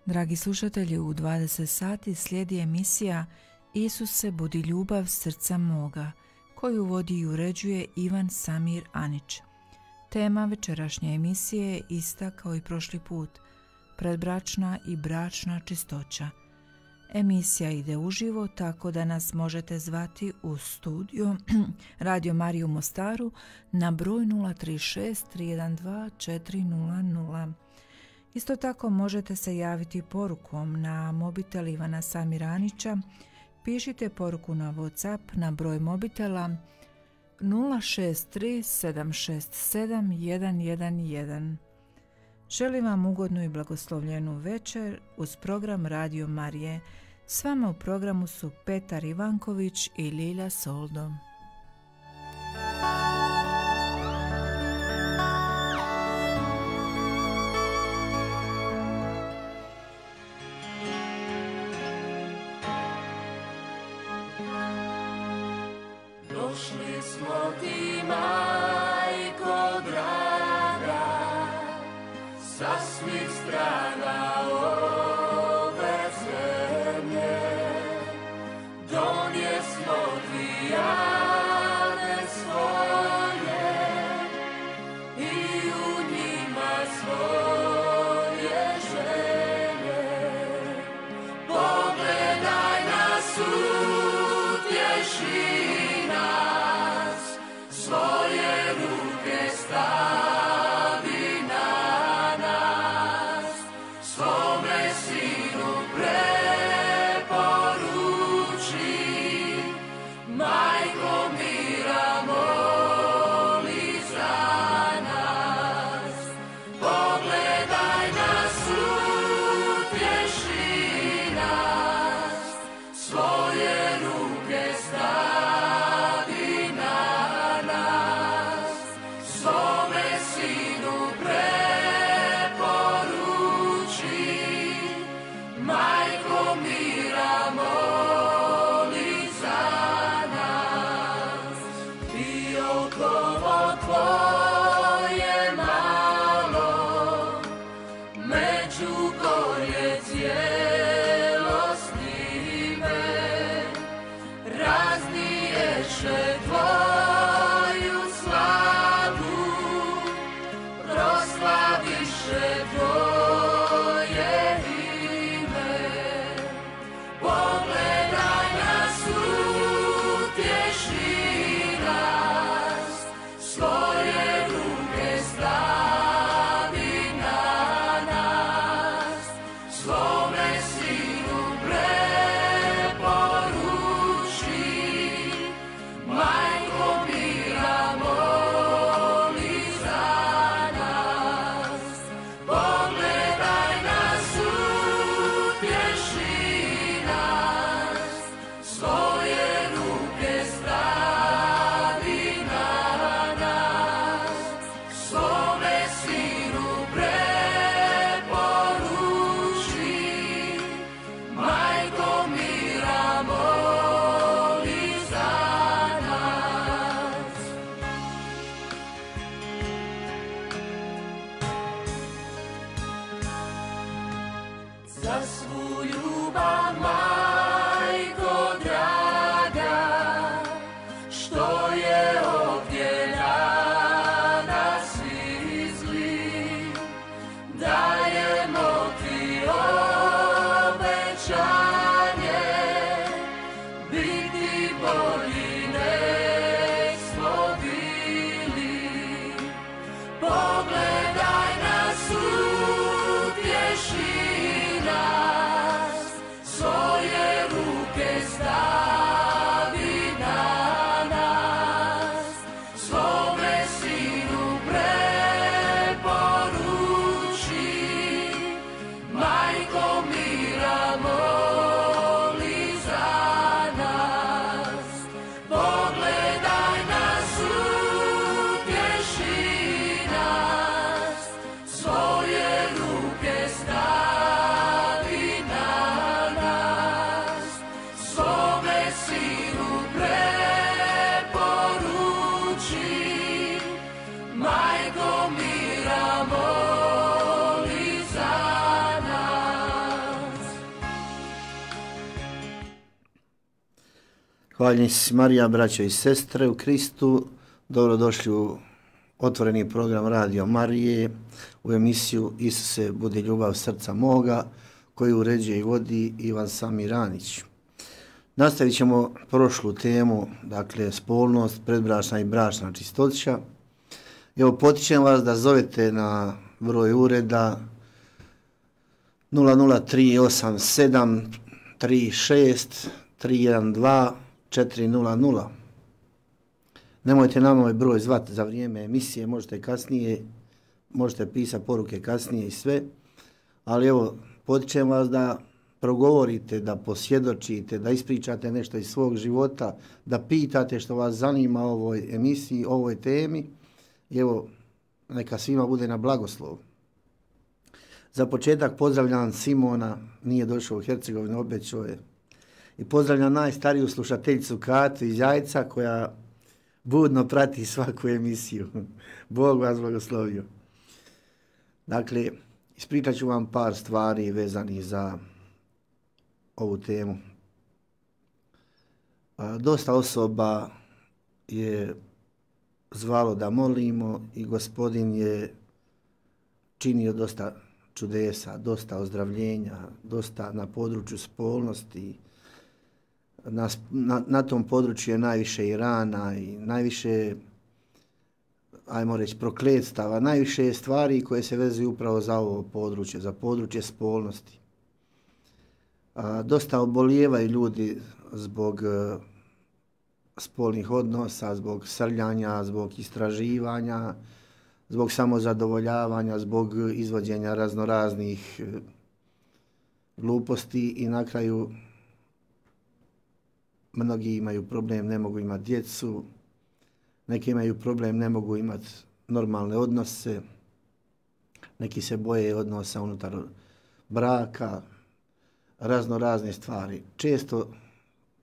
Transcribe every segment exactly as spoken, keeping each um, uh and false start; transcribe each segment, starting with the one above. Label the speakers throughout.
Speaker 1: Dragi slušatelji, u dvadeset sati slijedi emisija Isuse, budi ljubav srca moga, koju vodi i uređuje Ivan Samir Anić. Tema večerašnje emisije je ista kao i prošli put, predbračna i bračna čistoća. Emisija ide uživo, tako da nas možete zvati u studio Radio Mariju u Mostaru na broj nula tri šest tri jedan dva četiri nula nula. Isto tako možete se javiti porukom na mobitel Ivana Samiranića. Pišite poruku na WhatsApp na broj mobitela nula šest tri sedam šest sedam jedan jedan jedan. Želim vam ugodnu i blagoslovljenu večer uz program Radio Marije. S vama u programu su Petar Ivanković i Lilja Soldo.
Speaker 2: Došli smo ti, majko draga, sa svih strana ove zemlje. Donjesmo ti jane svoje i u njima svoje želje. Pogledaj nas, utješi nas, svoje ruke stavi na nas, svome sinu preporuči, majko mira moli za nas. Pogledaj nas, utješi nas, svoje ruke stavi na nas, svome sinu preporuči, majko mira moli za nas. Biokovo tvoje malo, Međugorje cijelo snime, razniješe tvoju slavu, proslaviše tvoje ime. Pogledaj nas, utješi nas, svoje ruke stavi na nas, svome sinu preporuči, majko mira moli za nas. Pogledaj nas, utješi nas, svoje ruke stavi na nas, svome sinu preporuči, majko mira moli za nas. Za svu ljubav, majko draga, što je ovdje na nas izli, dajemo ti obećanje, biti bolji nek smo bili. Pogledaj nas, utješi nas, svoj
Speaker 3: Hvaljen si Marija, braćo i sestre u Kristu. Dobrodošli u otvoreni program Radio Marije u emisiju Isuse, budi ljubav srca moga, koju uređuje i vodi Ivan Samir Anić. Nastavit ćemo prošlu temu, dakle spolnost, predbračna i bračna čistoća. Evo, potičem vas da zovete na broj ureda nula nula tri osam sedam tri šest tri jedan dva četiri nula nula. Nemojte nam ovaj broj zvati za vrijeme emisije, možete kasnije, možete pisati poruke kasnije i sve, ali evo, potičem vas da progovorite, da posvjedočite, da ispričate nešto iz svog života, da pitate što vas zanima o ovoj emisiji, o ovoj temi. I evo, neka svima bude na blagoslov. Za početak pozdravljam Simona, nije došao u Hercegovinu, obećao je. I pozdravljam najstariju slušateljicu Katu iz Jajca koja budno prati svaku emisiju. Bog vas blagoslovio. Dakle, ispričat ću vam par stvari vezanih za ovu temu. A, dosta osoba je zvalo da molimo i Gospodin je činio dosta čudesa, dosta ozdravljenja, dosta na području spolnosti. Na, na, na tom području je najviše i rana i najviše, ajmo reći, prokletstava, najviše je stvari koje se vezuju upravo za ovo područje, za područje spolnosti. A, dosta obolijevaju ljudi zbog uh, spolnih odnosa, zbog srljanja, zbog istraživanja, zbog samozadovoljavanja, zbog izvođenja raznoraznih uh, gluposti i na kraju mnogi imaju problem, ne mogu imati djecu, neki imaju problem, ne mogu imati normalne odnose, neki se boje odnosa unutar braka, razno razne stvari. Često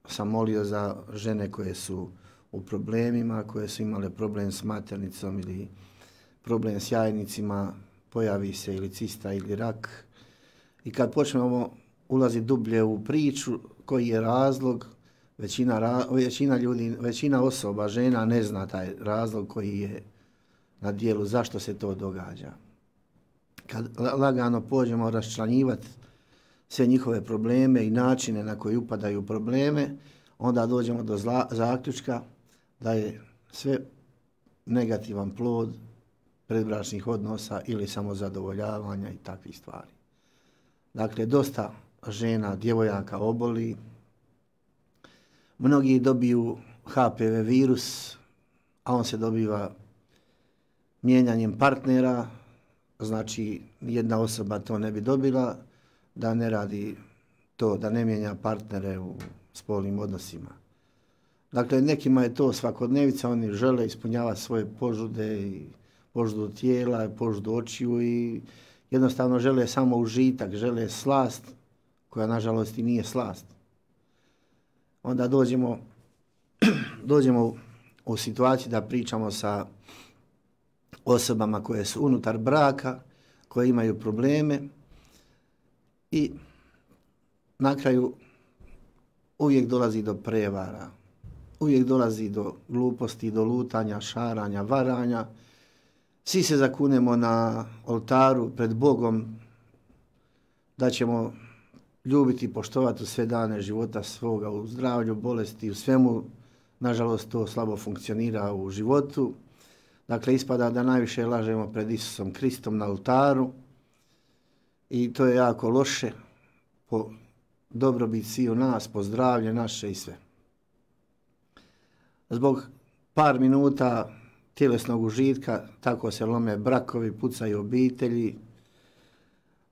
Speaker 3: sam molio za žene koje su u problemima, koje su imale problem s maternicom ili problem s jajnicima, pojavi se ili cista ili rak. I kad počnemo ulaziti dublje u priču, koji je razlog, većina, većina ljudi, većina osoba, žena ne zna taj razlog koji je na dijelu, zašto se to događa. Kad lagano pođemo raščlanjivati sve njihove probleme i načine na koji upadaju probleme, onda dođemo do zla, zaključka da je sve negativan plod predbračnih odnosa ili samozadovoljavanja i takvih stvari. Dakle, dosta žena, djevojaka oboli, mnogi dobiju H P V virus, a on se dobiva mijenjanjem partnera, znači jedna osoba to ne bi dobila, da ne radi to, da ne mijenja partnere u spolnim odnosima. Dakle, nekima je to svakodnevica, oni žele ispunjavati svoje požude, i požudu tijela, požudu očiju i jednostavno žele samo užitak, žele slast, koja nažalost i nije slast. Onda dođemo, dođemo u situaciju da pričamo sa osobama koje su unutar braka, koje imaju probleme i na kraju uvijek dolazi do prevara, uvijek dolazi do gluposti, do lutanja, šaranja, varanja. Svi se zakunemo na oltaru pred Bogom da ćemo ljubiti i poštovati u sve dane života svoga, u zdravlju, bolesti, u svemu. Nažalost, to slabo funkcionira u životu. Dakle, ispada da najviše lažemo pred Isusom Kristom na oltaru i to je jako loše po dobrobit svih u nas, po zdravlje naše i sve. Zbog par minuta tjelesnog užitka tako se lome brakovi, pucaju obitelji.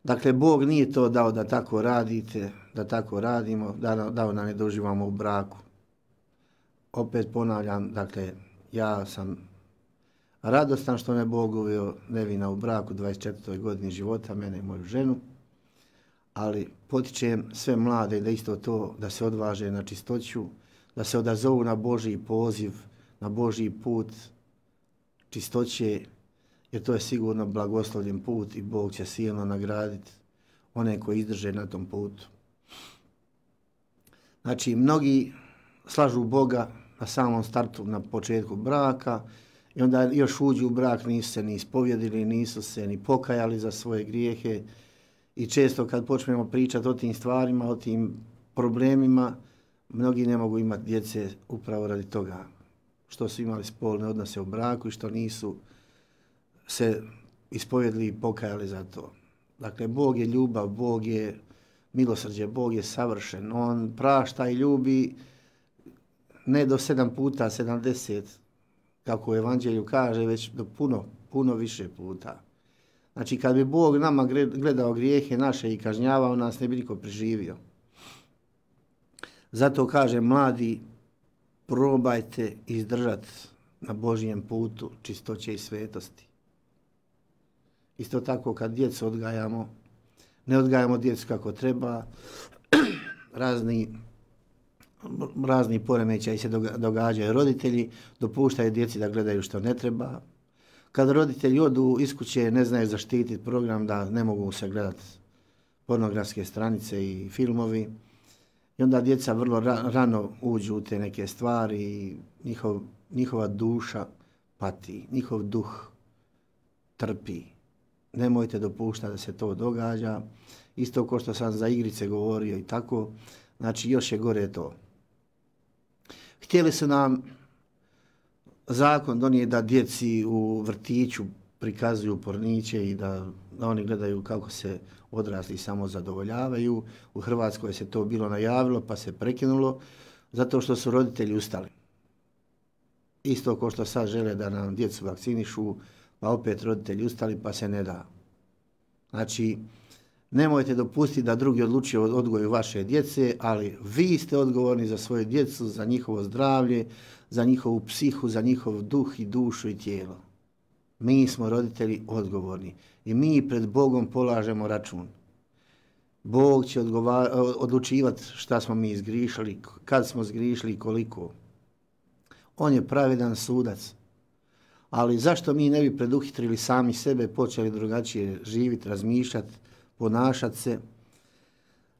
Speaker 3: Dakle, Bog nije to dao da tako radite, da tako radimo, da, dao da ne doživamo u braku. Opet ponavljam, dakle, ja sam radostan što me Bog uveo nevina u braku dvadeset četvrtoj godini života, mene i moju ženu, ali potičem sve mlade da isto to, da se odvaže na čistoću, da se odazovu na Božji poziv, na Božji put čistoće, jer to je sigurno blagoslovljen put i Bog će silno nagraditi one koji izdrže na tom putu. Znači, mnogi slažu Boga na samom startu, na početku braka i onda još uđu u brak, nisu se ni ispovjedili, nisu se ni pokajali za svoje grijehe i često kad počnemo pričati o tim stvarima, o tim problemima, mnogi ne mogu imati djece upravo radi toga što su imali spolne odnose u braku i što nisu se ispovjedili i pokajali za to. Dakle, Bog je ljubav, Bog je milosrđe, Bog je savršen. On prašta i ljubi ne do sedam puta, sedamdeset, kako u Evanđelju kaže, već do puno, puno više puta. Znači, kad bi Bog nama gledao grijehe naše i kažnjavao nas, ne bi niko preživio. Zato kaže, mladi, probajte izdržati na Božjem putu čistoće i svetosti. Isto tako kad djecu odgajamo, ne odgajamo djecu kako treba, razni, razni poremećaji se događaju. Roditelji dopuštaju djeci da gledaju što ne treba. Kad roditelji odu iz kuće, ne znaju zaštititi program, da ne mogu se gledati pornografske stranice i filmovi. I onda djeca vrlo ra- rano uđu u te neke stvari i njihov, njihova duša pati, njihov duh trpi. Nemojte dopuštati da se to događa. Isto kao što sam za igrice govorio i tako. Znači, još je gore to. Htjeli su nam zakon donijeti da djeci u vrtiću prikazuju porniće i da, da oni gledaju kako se odrasli samo zadovoljavaju. U Hrvatskoj se to bilo najavilo pa se prekinulo zato što su roditelji ustali. Isto kao što sad žele da nam djecu vakcinišu, pa opet roditelji ustali pa se ne da. Znači, nemojte dopustiti da drugi odlučuju o odgoju vaše djece, ali vi ste odgovorni za svoju djecu, za njihovo zdravlje, za njihovu psihu, za njihov duh i dušu i tijelo. Mi smo roditelji odgovorni i mi pred Bogom polažemo račun. Bog će odlučivati šta smo mi zgrišili, kad smo zgrišili i koliko. On je pravedan sudac. Ali zašto mi ne bi preduhitrili sami sebe, počeli drugačije živjeti, razmišljati, ponašati se?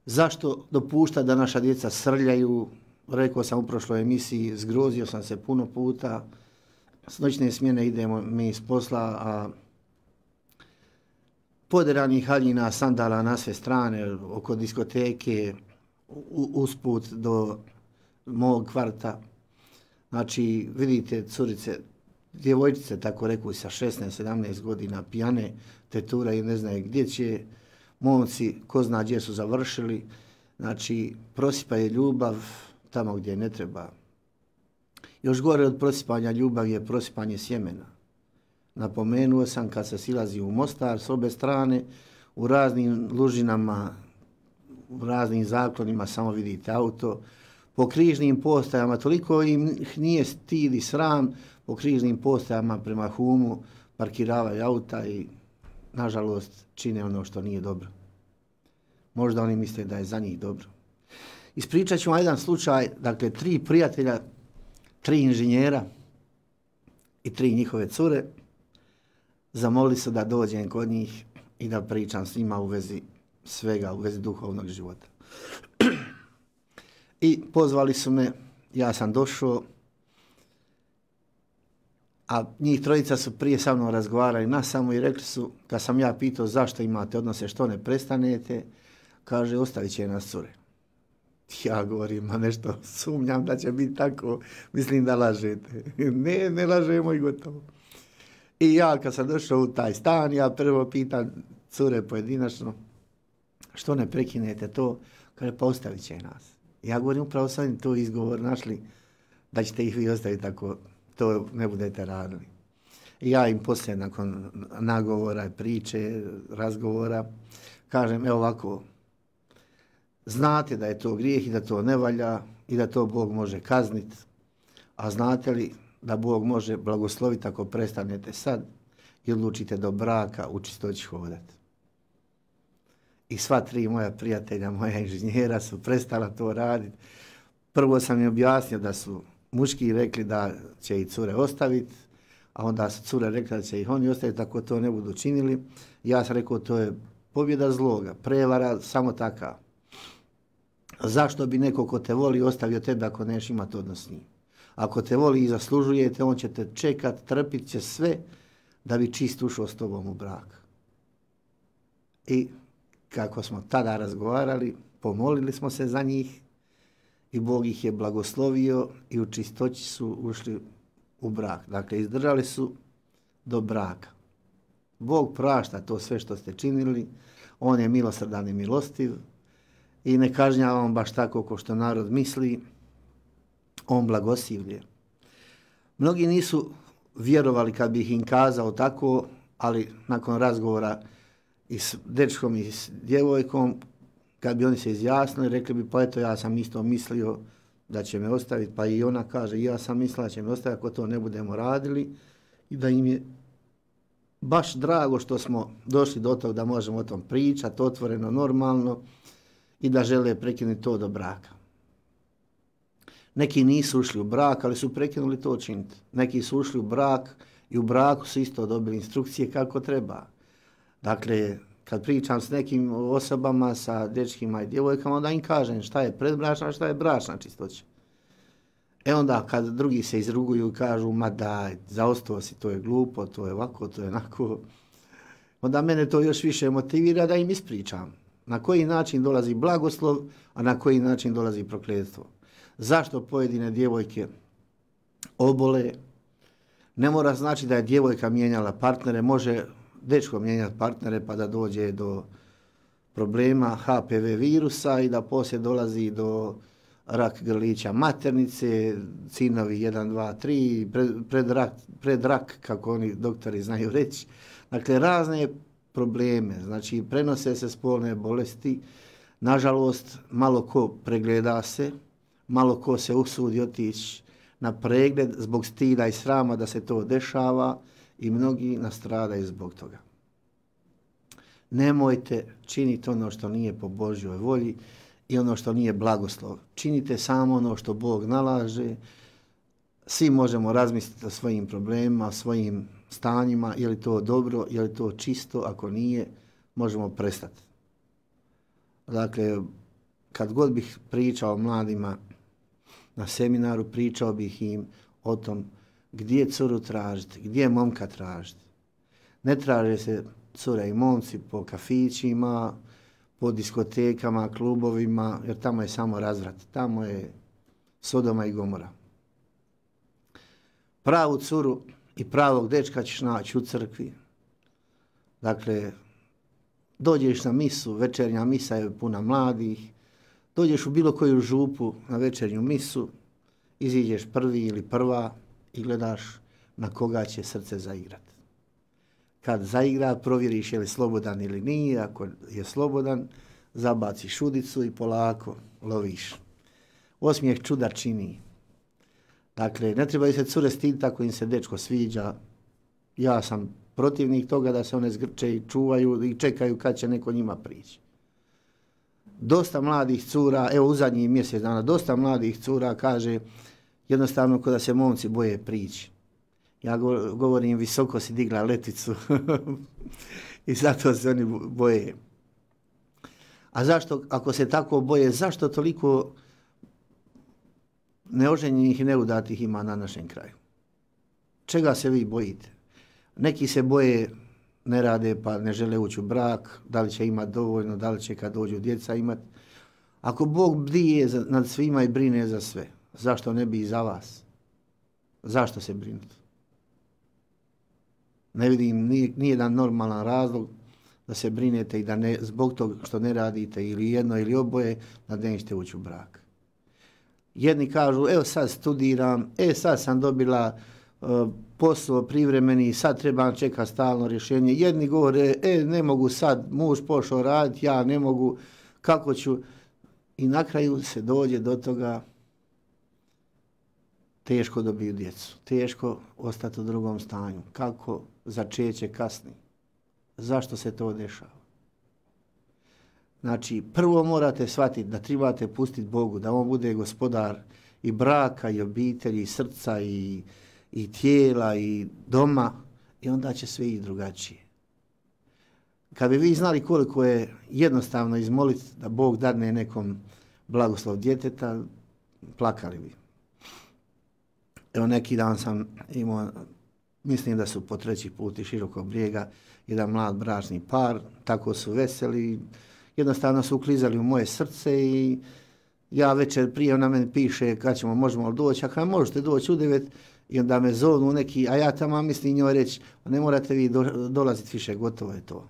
Speaker 3: Zašto dopuštati da naša djeca srljaju? Rekao sam u prošloj emisiji, zgrozio sam se puno puta. S noćne smjene idemo mi iz posla, a poderanih haljina, sandala na sve strane, oko diskoteke, usput do mog kvarta. Znači, vidite curice, djevojčice, tako reku, sa šesnaest sedamnaest godina, pijane, tetura i ne znaju gdje će, momci, ko zna gdje su završili, znači, prosipaju ljubav tamo gdje ne treba. Još gore od prosipanja ljubavi je prosipanje sjemena. Napomenuo sam kad se silazi u Mostar s obe strane, u raznim lužinama, u raznim zaklonima samo vidite auto, po križnim postajama, toliko im nije stid i sram, po križnim postajama prema Humu parkiravaju auta i nažalost čine ono što nije dobro. Možda oni misle da je za njih dobro. Ispričat ću vam jedan slučaj, dakle tri prijatelja, tri inženjera i tri njihove cure zamolili su da dođem kod njih i da pričam s njima u vezi svega, u vezi duhovnog života. I pozvali su me, ja sam došao, a njih trojica su prije sa mnom razgovarali na samo i rekli su, kad sam ja pitao zašto imate odnose, što ne prestanete, kaže, ostavit će nas cure. Ja govorim, ma nešto sumnjam da će biti tako, mislim da lažete. Ne, ne lažemo i gotovo. I ja kad sam došao u taj stan, ja prvo pitam cure pojedinačno, što ne prekinete to, kaže, pa ostavit će nas. Ja govorim, upravo sam to izgovor našli, da ćete ih vi ostaviti ako to ne budete radili. I ja im poslije nakon nagovora, priče, razgovora, kažem, evo ovako, znate da je to grijeh i da to ne valja i da to Bog može kazniti, a znate li da Bog može blagosloviti ako prestanete sad i odlučite do braka u čistoći hodati. I sva tri moja prijatelja, moja inženjera su prestala to raditi. Prvo sam im objasnio da su muški rekli da će i cure ostaviti, a onda su cure rekli da će ih oni ostaviti ako to ne budu činili. Ja sam rekao, to je pobjeda zloga, prevara, samo taka. Zašto bi neko ko te voli ostavio tebe ako neš imati odnos s njim? Ako te voli i zaslužujete, on će te čekat, trpit će sve da bi čist ušao s tobom u brak. I kako smo tada razgovarali, pomolili smo se za njih i Bog ih je blagoslovio i u čistoći su ušli u brak. Dakle, izdržali su do braka. Bog prašta to sve što ste činili, on je milosrdan i milostiv i ne kažnjava on baš tako kao što narod misli, on blagosilje. Mnogi nisu vjerovali kad bih im kazao tako, ali nakon razgovora i s dečkom i s djevojkom, kad bi oni se izjasnili, rekli bi, pa eto, ja sam isto mislio da će me ostaviti, pa i ona kaže, ja sam mislila da će me ostaviti ako to ne budemo radili i da im je baš drago što smo došli do toga da možemo o tom pričati, otvoreno, normalno i da žele prekinuti to do braka. Neki nisu ušli u brak, ali su prekinuli to činiti. Neki su ušli u brak i u braku su isto dobili instrukcije kako treba. Dakle, kad pričam s nekim osobama, sa dečkima i djevojkama, onda im kažem šta je predbračna, šta je bračna čistoća. E onda kad drugi se izruguju i kažu, ma daj, zaostao si, to je glupo, to je ovako, to je onako, onda mene to još više motivira da im ispričam. Na koji način dolazi blagoslov, a na koji način dolazi prokletstvo. Zašto pojedine djevojke obole? Ne mora znači da je djevojka mijenjala partnere, može dečko mijenjati partnere pa da dođe do problema H P V virusa i da poslije dolazi do rak grlića maternice, cinovi jedan, dva, tri, pred, pred, rak, pred rak, kako oni doktori znaju reći. Dakle, razne probleme, znači prenose se spolne bolesti, nažalost, malo ko pregleda se, malo ko se usudi otići na pregled zbog stida i srama da se to dešava i mnogi nastradaju zbog toga. Nemojte činiti ono što nije po Božjoj volji i ono što nije blagoslov. Činite samo ono što Bog nalaže. Svi možemo razmisliti o svojim problemima, o svojim stanjima, je li to dobro, je li to čisto, ako nije, možemo prestati. Dakle, kad god bih pričao mladima na seminaru, pričao bih im o tom gdje curu tražiti, gdje momka tražiti. Ne traže se cure i momci po kafićima, po diskotekama, klubovima, jer tamo je samo razvrat. Tamo je Sodoma i Gomora. Pravu curu i pravog dečka ćeš naći u crkvi. Dakle, dođeš na misu, večernja misa je puna mladih, dođeš u bilo koju župu na večernju misu, iziđeš prvi ili prva i gledaš na koga će srce zaigrati. Kad zaigra, provjeriš je li slobodan ili nije, ako je slobodan, zabaciš šudicu i polako loviš. Osmijeh čuda čini. Dakle, ne trebaju se cure stiditi ako im se dečko sviđa. Ja sam protivnik toga da se one zgrče i čuvaju i čekaju kad će neko njima prići. Dosta mladih cura, evo u zadnjih mjesec dana, dosta mladih cura kaže jednostavno kada se momci boje prići. Ja govorim, visoko si digla leticu i zato se oni boje. A zašto, ako se tako boje, zašto toliko neoženjenih i neudatih ima na našem kraju? Čega se vi bojite? Neki se boje, ne rade pa ne žele ući u brak, da li će imati dovoljno, da li će kad dođu djeca imati. Ako Bog bdije nad svima i brine za sve, zašto ne bi i za vas? Zašto se brinuti? Ne vidim nijedan normalan razlog da se brinete i da ne, zbog toga što ne radite ili jedno ili oboje, da nećete ući u brak. Jedni kažu, evo sad studiram, e sad sam dobila uh, posao privremeni, sad trebam čekati stalno rješenje. Jedni govore, e ne mogu sad, muž pošao raditi, ja ne mogu, kako ću? I na kraju se dođe do toga, teško dobiju djecu, teško ostati u drugom stanju. Kako začeće kasni? Zašto se to dešava? Znači, prvo morate shvatiti da trebate pustiti Bogu, da on bude gospodar i braka, i obitelji, i srca, i, i tijela, i doma, i onda će sve i drugačije. Kad bi vi znali koliko je jednostavno izmoliti da Bog dadne nekom blagoslov djeteta, plakali bi. Evo neki dan sam imao, mislim da su po treći put iz Širokog Brijega, jedan mlad bračni par, tako su veseli, jednostavno su uklizali u moje srce i ja večer prije ona meni piše kad ćemo, možemo li doći, a kada možete doći u devet, i onda me zovnu neki, a ja tamo mislim njoj reći, ne morate vi do, dolaziti više, gotovo je to.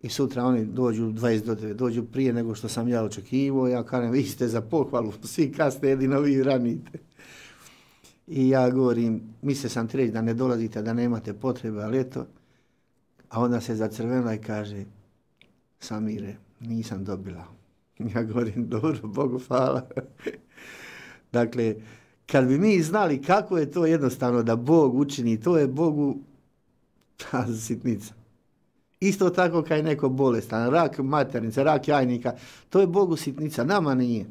Speaker 3: I sutra oni dođu dvadeset do devet, dođu prije nego što sam ja očekivao, ja kažem, vi ste za pohvalu, svi kasne, jedino vi ranite. I ja govorim, mislio sam ti reći da ne dolazite, da nemate potrebe, ali eto, a onda se zacrvenila i kaže, Samire, nisam dobila. Ja govorim, dobro, Bogu hvala. Dakle, kad bi mi znali kako je to jednostavno da Bog učini, to je Bogu ta sitnica. Isto tako kao je neko bolestan, rak maternice, rak jajnika, to je Bogu sitnica, nama nije.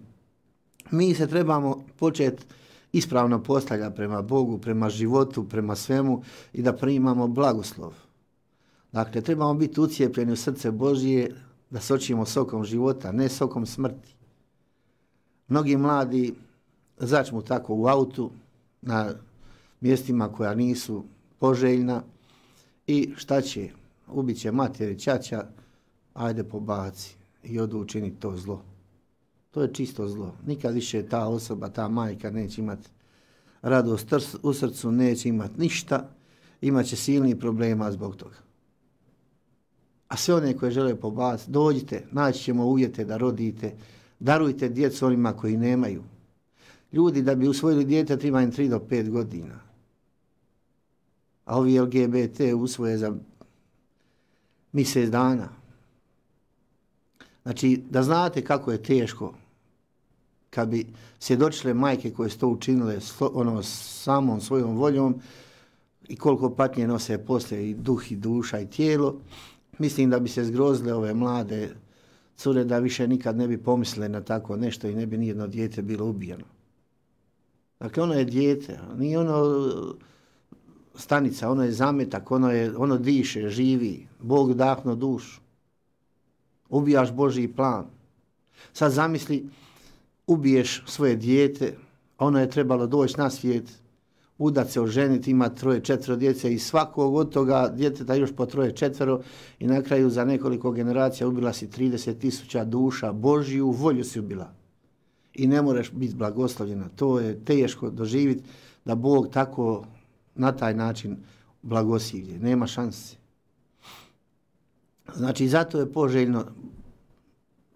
Speaker 3: Mi se trebamo početi ispravno postavljati prema Bogu, prema životu, prema svemu i da primamo blagoslov. Dakle, trebamo biti ucijepljeni u srce Božije, da sočimo sokom života, ne sokom smrti. Mnogi mladi začmu tako u autu, na mjestima koja nisu poželjna i šta će? Ubit će mater i ćaća, ajde pobaci i odu učiniti to zlo. To je čisto zlo. Nikad više ta osoba, ta majka neće imati radost u srcu, neće imati ništa, imat će silnih problema zbog toga. A sve one koje žele pobaciti, dođite, naći ćemo uvjete da rodite, darujte djecu onima koji nemaju. Ljudi da bi usvojili dijete treba im tri do pet godina. A ovi L G B T usvoje za mjesec dana. Znači, da znate kako je teško kad bi svjedočile majke koje su to učinile ono, samom svojom voljom i koliko patnje nose poslije i duh i duša i tijelo, mislim da bi se zgrozile ove mlade cure da više nikad ne bi pomislile na tako nešto i ne bi nijedno dijete bilo ubijeno. Dakle, ono je dijete, nije ono stanica, ono je zametak, ono, je, ono diše, živi, Bog dahno dušu. Ubijaš Božji plan. Sad zamisli, ubiješ svoje dijete, ono je trebalo doći na svijet, udat se, oženiti, ima troje, četvero djece i svakog od toga djeteta još po troje, četvero i na kraju za nekoliko generacija ubila si trideset tisuća duša, Božju volju si ubila. I ne moraš biti blagoslovljena. To je teško doživjeti da Bog tako na taj način blagosilje. Nema šanse. Znači, zato je poželjno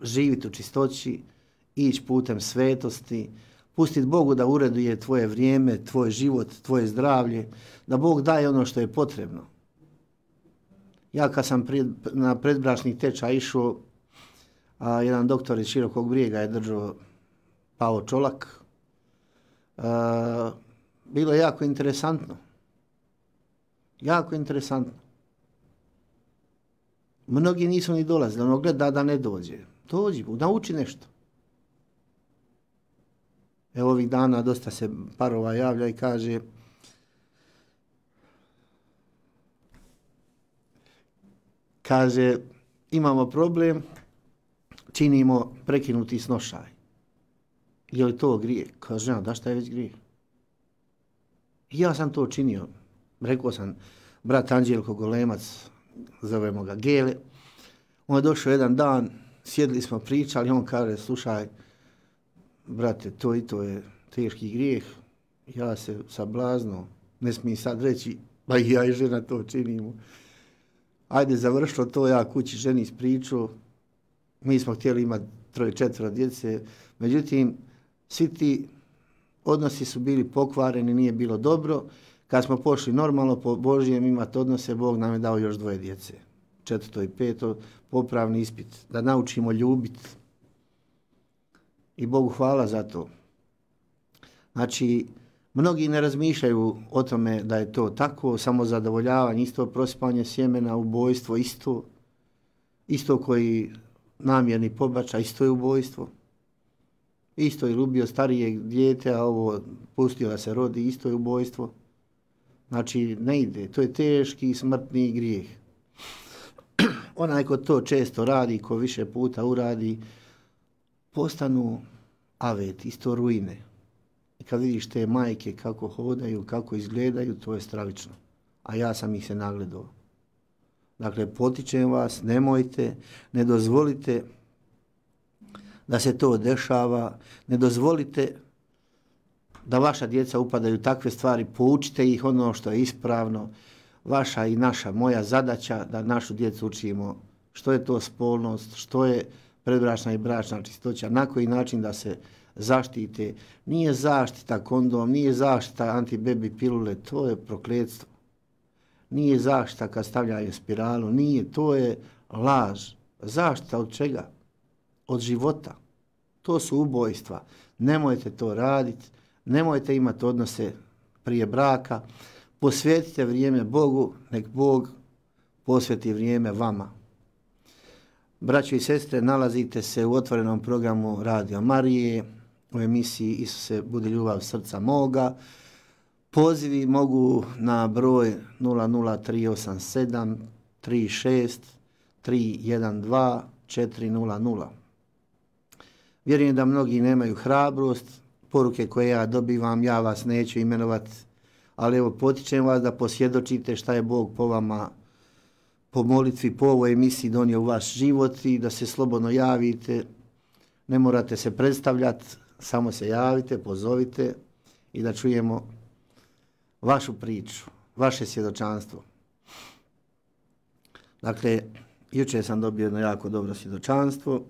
Speaker 3: živjeti u čistoći, ići putem svetosti, pustiti Bogu da ureduje tvoje vrijeme, tvoj život, tvoje zdravlje, da Bog daje ono što je potrebno. Ja kad sam pred, na predbračni tečaj išao, a, jedan doktor iz Širokog Brijega je držao Pavo Čolak, a, bilo je jako interesantno. Jako interesantno. Mnogi nisu ni dolazili, ono gleda da ne dođe. Dođi, nauči nešto. Evo ovih dana dosta se parova javlja i kaže kaže imamo problem, činimo prekinuti snošaj. Je li to grijeh? Kaže, ja, da šta je već grijeh? Ja sam to činio. Rekao sam, brat Anđelko Golemac, zovemo ga Gele, on je došao jedan dan, sjedili smo, pričali, on kaže, slušaj, brate, to i to je teški grijeh, ja se sablazno, ne smije sad reći, ba i ja i žena to činimo. Ajde, završilo to, ja kući ženi ispričao, mi smo htjeli imati troje, četvero djece, međutim, svi ti odnosi su bili pokvareni, nije bilo dobro. Kad smo pošli normalno po Božijem imati odnose, Bog nam je dao još dvoje djece. Četvrto i peto, popravni ispit, da naučimo ljubiti. I Bogu hvala za to. Znači, mnogi ne razmišljaju o tome da je to tako, samo zadovoljavanje, isto prosipanje sjemena, ubojstvo, isto, isto koji namjerni pobačaj, isto je ubojstvo. Isto je ubio starijeg dijete, a ovo pustio da se rodi, isto je ubojstvo. Znači, ne ide, to je teški smrtni grijeh. Onaj ko to često radi, ko više puta uradi, postanu avet, isto ruine. I kad vidiš te majke kako hodaju, kako izgledaju, to je stravično. A ja sam ih se nagledao. Dakle, potičem vas, nemojte, ne dozvolite da se to dešava, ne dozvolite da vaša djeca upadaju u takve stvari, poučite ih ono što je ispravno. Vaša i naša, moja zadaća da našu djecu učimo što je to spolnost, što je predbračna i bračna čistoća, na koji način da se zaštite. Nije zaštita kondom, nije zaštita antibebi pilule, to je prokletstvo. Nije zaštita kad stavljaju spiralu, nije, to je laž. Zaštita od čega? Od života. To su ubojstva. Nemojte to raditi, nemojte imati odnose prije braka, posvetite vrijeme Bogu, nek Bog posveti vrijeme vama. Braćo i sestre, nalazite se u otvorenom programu Radio Marije, u emisiji Isuse, budi ljubav srca moga. Pozivi mogu na broj nula nula tri osam sedam tri šest tri jedan dva četiri nula nula. Vjerujem da mnogi nemaju hrabrost, poruke koje ja dobivam, ja vas neću imenovati, ali evo potičem vas da posvjedočite šta je Bog po vama, po molitvi, po ovoj emisiji donio u vaš život i da se slobodno javite. Ne morate se predstavljati, samo se javite, pozovite i da čujemo vašu priču, vaše svjedočanstvo. Dakle, jučer sam dobio jedno jako dobro svjedočanstvo.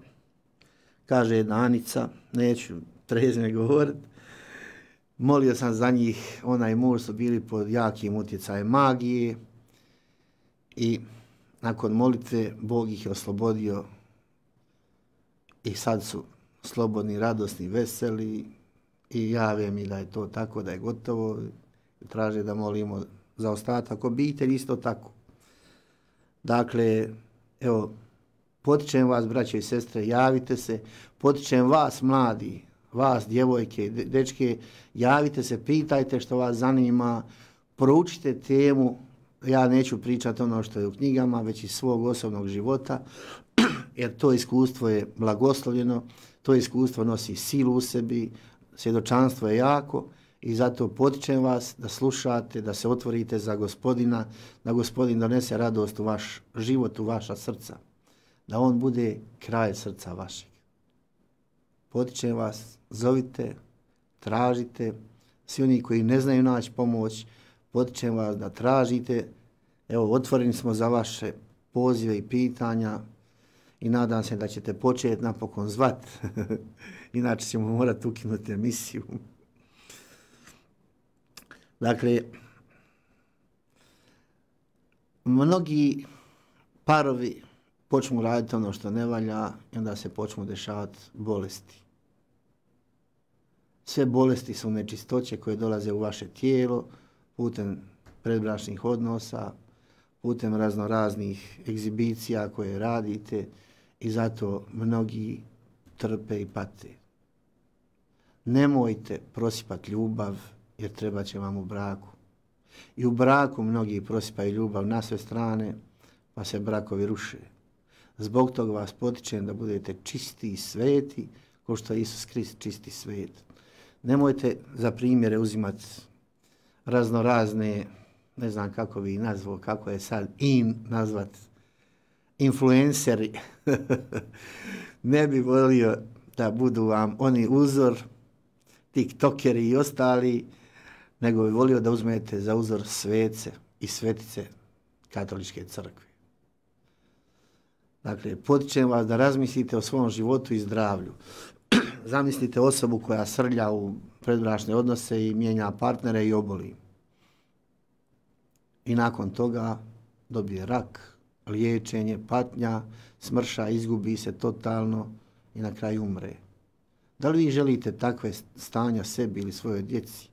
Speaker 3: Kaže jedna Anica, neću trezno govoriti, molio sam za njih, ona i muž su bili pod jakim utjecajem magije i nakon molitve Bog ih je oslobodio i sad su slobodni, radosni, veseli i jave mi da je to tako, da je gotovo. Traže da molimo za ostatak obitelji, isto tako. Dakle, evo, potičem vas, braće i sestre, javite se, potičem vas, mladi, vas, djevojke, dečke, javite se, pitajte što vas zanima, proučite temu. Ja neću pričati ono što je u knjigama, već iz svog osobnog života, jer to iskustvo je blagoslovljeno, to iskustvo nosi silu u sebi, svjedočanstvo je jako i zato potičem vas da slušate, da se otvorite za Gospodina, da Gospodin donese radost u vaš život, u vaša srca, da on bude kraj srca vašeg. Potičem vas, zovite, tražite, svi oni koji ne znaju naći pomoć, potičem vas da tražite. Evo, otvoreni smo za vaše pozive i pitanja i nadam se da ćete početi napokon zvat. Inače ćemo morati ukinuti emisiju. Dakle, mnogi parovi počnu raditi ono što ne valja i onda se počnu dešavati bolesti. Sve bolesti su nečistoće koje dolaze u vaše tijelo putem predbračnih odnosa, putem raznoraznih egzibicija koje radite i zato mnogi trpe i pate. Nemojte prosipati ljubav jer treba će vam u braku. I u braku mnogi prosipaju ljubav na sve strane pa se brakovi ruše. Zbog toga vas potičem da budete čisti i sveti kao što je Isus Krist čisti svet. Nemojte za primjere uzimati raznorazne, ne znam kako bi nazvao, kako je sad in nazvat, influenceri. Ne bi volio da budu vam oni uzor, tiktokeri i ostali, nego bi volio da uzmete za uzor svece i svetice katoličke crkve. Dakle, potičem vas da razmislite o svom životu i zdravlju. Zamislite osobu koja srlja u predbračne odnose i mijenja partnere i oboli. I nakon toga dobije rak, liječenje, patnja, smrša, izgubi se totalno i na kraju umre. Da li vi želite takve stanja sebi ili svojoj djeci?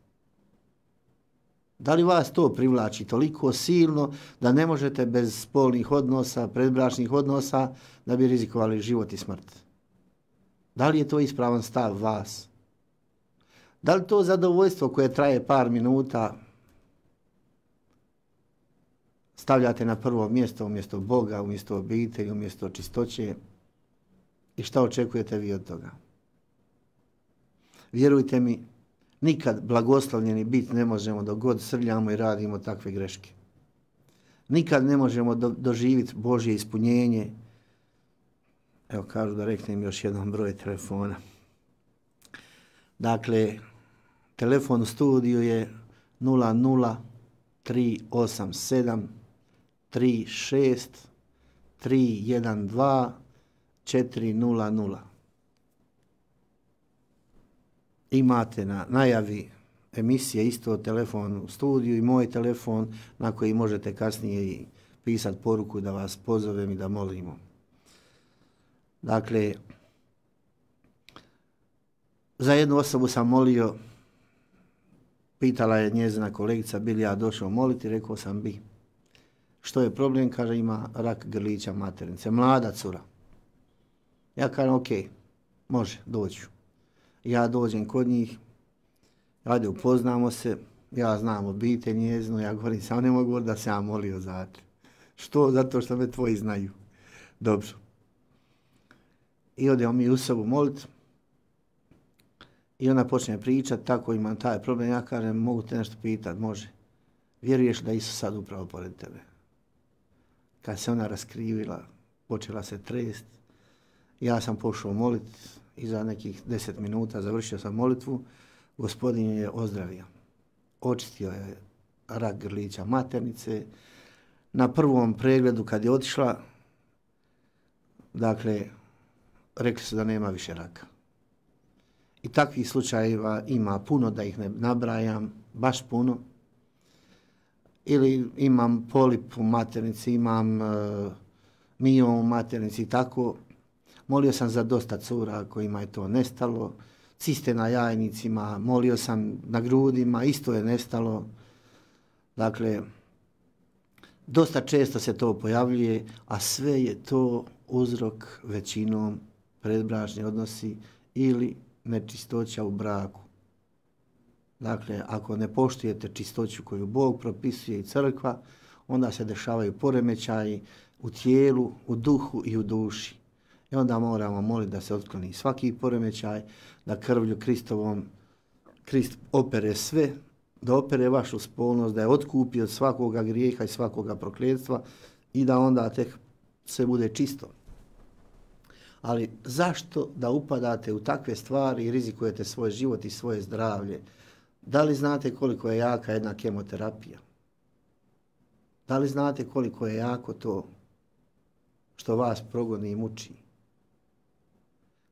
Speaker 3: Da li vas to privlači toliko silno da ne možete bez spolnih odnosa, predbračnih odnosa, da bi rizikovali život i smrt? Da li je to ispravan stav vas? Da li to zadovoljstvo koje traje par minuta stavljate na prvo mjesto umjesto Boga, umjesto obitelji, umjesto čistoće? I šta očekujete vi od toga? Vjerujte mi, nikad blagoslovljeni bit ne možemo dok god srljamo i radimo takve greške. Nikad ne možemo do, doživjeti Božje ispunjenje. Evo kažu da reknem još jedan broj telefona. Dakle, telefon u studiju je nula nula tri osam sedam tri šest tri jedan dva četiri nula nula. Imate na najavi emisije isto telefon u studiju i moj telefon na koji možete kasnije i pisati poruku da vas pozovem i da molimo. Dakle, za jednu osobu sam molio, pitala je njezina kolegica bi li ja došao moliti, rekao sam bi. Što je problem? Kaže ima rak grlića maternice, mlada cura. Ja kažem ok, može, doću. Ja dođem kod njih, ajde upoznamo se, ja znam obitelj njezinu, ja govorim, samo ne mogu da se ja molio za te. Što? Zato što me tvoji znaju. Dobro. I odemo mi u sobu moliti. I ona počne pričati, tako imam taj problem. Ja kažem, mogu te nešto pitati? Može. Vjeruješ da Isus sad upravo pored tebe? Kad se ona raskrivila, počela se trest. Ja sam pošao moliti i za nekih deset minuta završio sam molitvu. Gospodin je ozdravio. Očistio je rak grlića maternice. Na prvom pregledu kad je otišla, dakle, rekli su da nema više raka. I takvih slučajeva ima puno, da ih ne nabrajam, baš puno. Ili imam polip u maternici, imam uh, miom u maternici i tako. Molio sam za dosta cura kojima je to nestalo. Ciste na jajnicima, molio sam na grudima, isto je nestalo. Dakle, dosta često se to pojavljuje, a sve je to uzrok većinom predbračni odnosi ili nečistoća u braku. Dakle, ako ne poštujete čistoću koju Bog propisuje i crkva, onda se dešavaju poremećaji u tijelu, u duhu i u duši. I onda moramo moliti da se otkloni svaki poremećaj, da krvlju Kristovom Krist opere sve, da opere vašu spolnost, da je otkupi od svakoga grijeha i svakoga prokletstva i da onda tek sve bude čisto. Ali zašto da upadate u takve stvari i rizikujete svoj život i svoje zdravlje? Da li znate koliko je jaka jedna kemoterapija? Da li znate koliko je jako to što vas progoni i muči?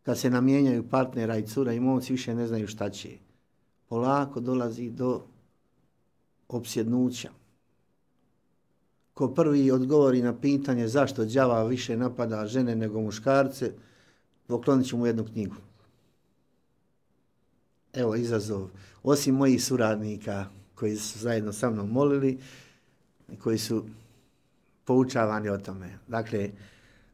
Speaker 3: Kad se namijenjaju partnera i cura i momci više ne znaju šta će. Polako dolazi do opsjednuća. Ko prvi odgovori na pitanje zašto đava više napada žene nego muškarce, poklonit ću mu jednu knjigu. Evo izazov. Osim mojih suradnika koji su zajedno sa mnom molili, koji su poučavani o tome. Dakle,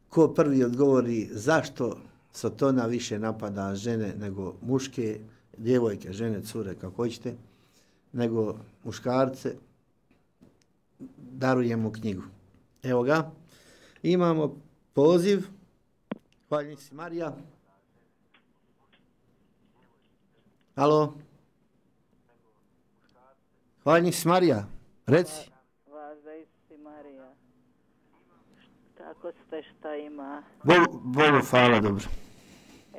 Speaker 3: ko prvi odgovori zašto Sotona više napada žene nego muške, djevojke, žene, cure, kako hoćete, nego muškarce, darujemo knjigu. Evo ga. Imamo poziv. Hvala si Marija. Halo. Hvala si Marija. Reci.
Speaker 4: Važda si Marija. Kako ste, šta ima?
Speaker 3: Bogu, Bogu hvala, dobro.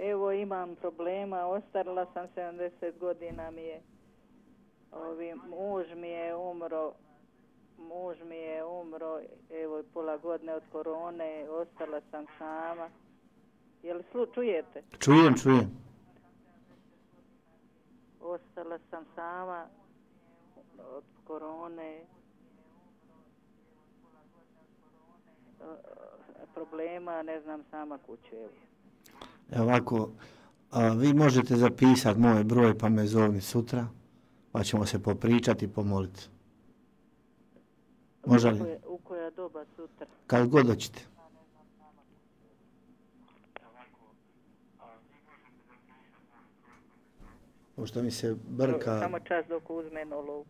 Speaker 4: Evo imam problema, ostarila sam sedamdeset godina mi je. Ovi, muž mi je umro, muž mi je umro, evo pola godine od korone, ostala sam sama. Jel slu, čujete?
Speaker 3: Čujem, čujem.
Speaker 4: Ostala sam sama od korone. Problema, ne znam sama kuću. Evo.
Speaker 3: Evo ovako, a, vi možete zapisati moj broj pa me zovni sutra, pa ćemo se popričati i pomoliti. Može li?
Speaker 4: U koja, u koja doba sutra?
Speaker 3: Kad god hoćete. Pošto mi se brka...
Speaker 4: Samo čas dok uzme nulu.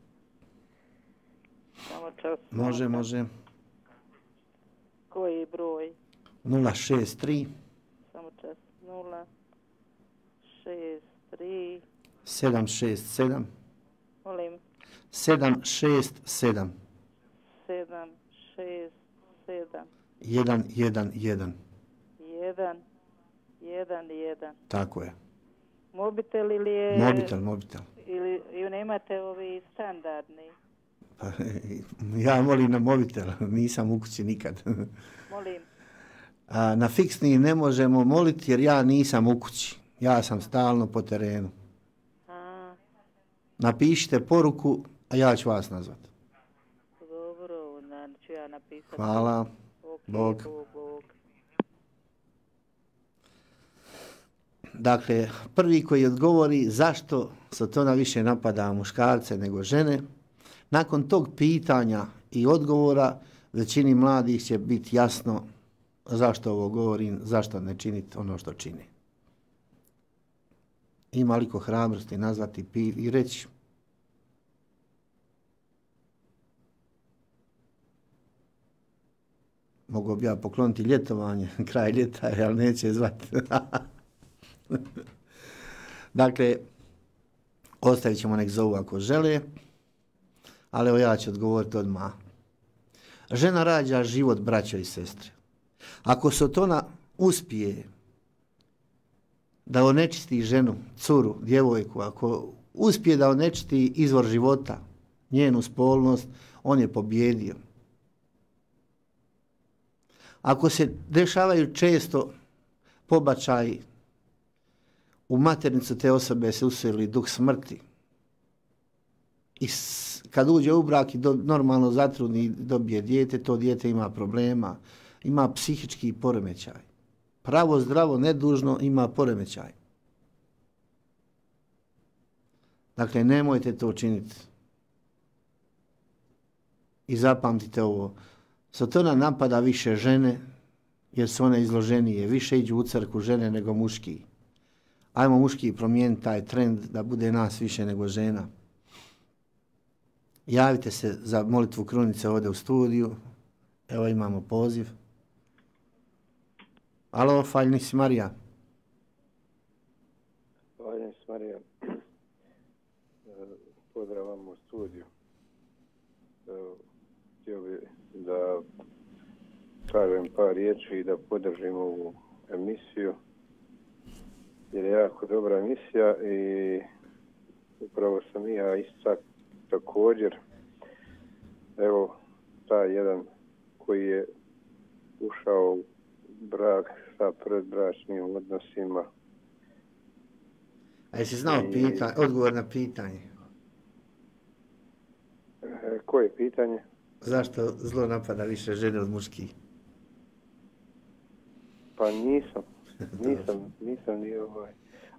Speaker 4: Samo čas.
Speaker 3: Može, može.
Speaker 4: Koji broj?
Speaker 3: nula šest tri
Speaker 4: Samo čas. nula šest tri
Speaker 3: sedam šest sedam.
Speaker 4: Molim.
Speaker 3: sedam šest sedam.
Speaker 4: sedam šest sedam.
Speaker 3: jedan jedan jedan.
Speaker 4: jedan jedan jedan.
Speaker 3: Tako je.
Speaker 4: Mobitel ili je...
Speaker 3: Mobitel, mobitel.
Speaker 4: Ili, ili nemate ovi standardni?
Speaker 3: Pa, ja molim na mobitel, nisam u kući nikad.
Speaker 4: Molim.
Speaker 3: A, na fiksni ne možemo moliti jer ja nisam u kući. Ja sam stalno po terenu.
Speaker 4: A,
Speaker 3: Napišite poruku, a ja ću vas nazvati.
Speaker 4: dobro, onda ću ja napisati.
Speaker 3: Hvala.
Speaker 4: Ok,
Speaker 3: Bog.
Speaker 4: Bog, Bog.
Speaker 3: Dakle, prvi koji odgovori zašto Sotona više napada muškarce nego žene, nakon tog pitanja i odgovora većini mladih će biti jasno zašto ovo govorim, zašto ne činiti ono što čini. Ima li ko hrabrosti nazvati pi i reći? Mogu bi ja pokloniti ljetovanje, kraj ljeta, ali neće zvati. Dakle, ostavit ćemo nek zovu ako žele, ali evo ja ću odgovoriti odmah. Žena rađa život, braćo i sestre. Ako Sotona uspije da onečisti ženu, curu, djevojku, ako uspije da onečisti izvor života, njenu spolnost, on je pobjedio. Ako se dešavaju često pobačaji, u maternicu te osobe se useli duh smrti. I s, kad uđe u brak i do, normalno zatrudni i dobije dijete, to dijete ima problema, ima psihički poremećaj. Pravo, zdravo, nedužno ima poremećaj. Dakle, nemojte to činiti. I zapamtite ovo. Sotona napada više žene, jer su one izloženije. Više iđu u crkvu žene nego muški. Ajmo muški promijeniti taj trend da bude nas više nego žena. Javite se za molitvu krunice ovdje u studiju. Evo imamo poziv. Alo, Faljni si Marija.
Speaker 5: Faljni si Marija. Pozdrav vam u studiju. Htio bi da kažem par riječi i da podržim ovu emisiju. Jer je jako dobra emisija i upravo sam i ja istak također. Evo, taj jedan koji je ušao u brak sa predbračnim odnosima.
Speaker 3: A jesi znao
Speaker 5: I...
Speaker 3: pita, odgovor na pitanje?
Speaker 5: E, koje pitanje?
Speaker 3: Zašto zlo napada više žene od muških?
Speaker 5: Pa nisam. Nisam, nisam ni ovaj.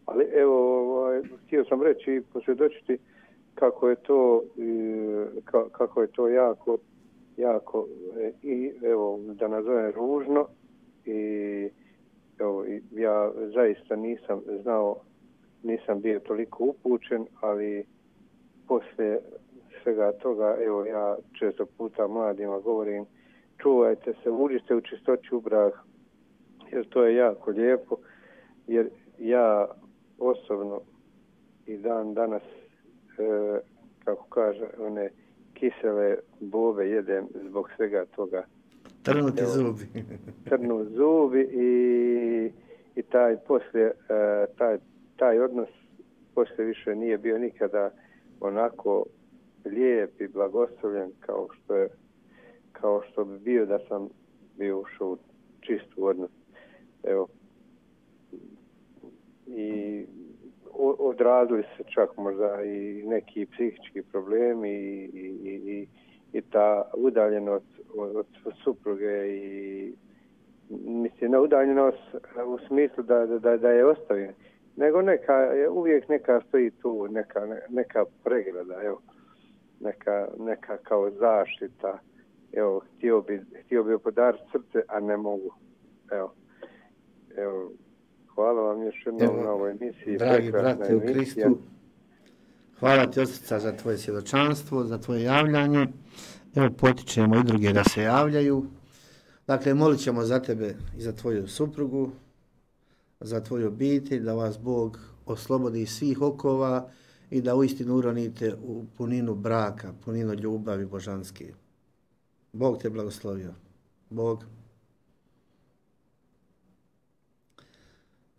Speaker 5: Ali evo, ovaj, htio sam reći i posvjedočiti kako je to, ka, kako je to jako, jako i evo, da nazovem ružno i evo, ja zaista nisam znao, nisam bio toliko upućen, ali poslije svega toga, evo, ja često puta mladima govorim, čuvajte se, uđite u čistoću u brak, jer to je jako lijepo, jer ja osobno i dan danas, e, kako kaže, one kisele bobe jedem zbog svega toga.
Speaker 3: Trnuti zubi.
Speaker 5: Trnu zubi i, i taj poslije, e, taj, taj odnos poslije više nije bio nikada onako lijep i blagoslovljen kao što je, kao što bi bio da sam bio ušao u čistu odnos. Evo, i odrazili se čak možda i neki psihički problemi i, i, i, i ta udaljenost od, od supruge i mislim, ne udaljenost u smislu da, da, da je ostavljen, nego neka, uvijek neka stoji tu, neka, neka pregrada, evo, neka, neka kao zaštita, evo, htio bi, htio bi podariti srce, a ne mogu, evo. Evo, hvala vam još jednom na ovoj emisiji.
Speaker 3: Dragi brate u Kristu, hvala ti od srca za tvoje svjedočanstvo, za tvoje javljanje. Evo, potičemo i druge da se javljaju. Dakle, molit ćemo za tebe i za tvoju suprugu, za tvoju obitelj, da vas Bog oslobodi svih okova i da uistinu uronite u puninu braka, puninu ljubavi božanske. Bog te blagoslovio. Bog.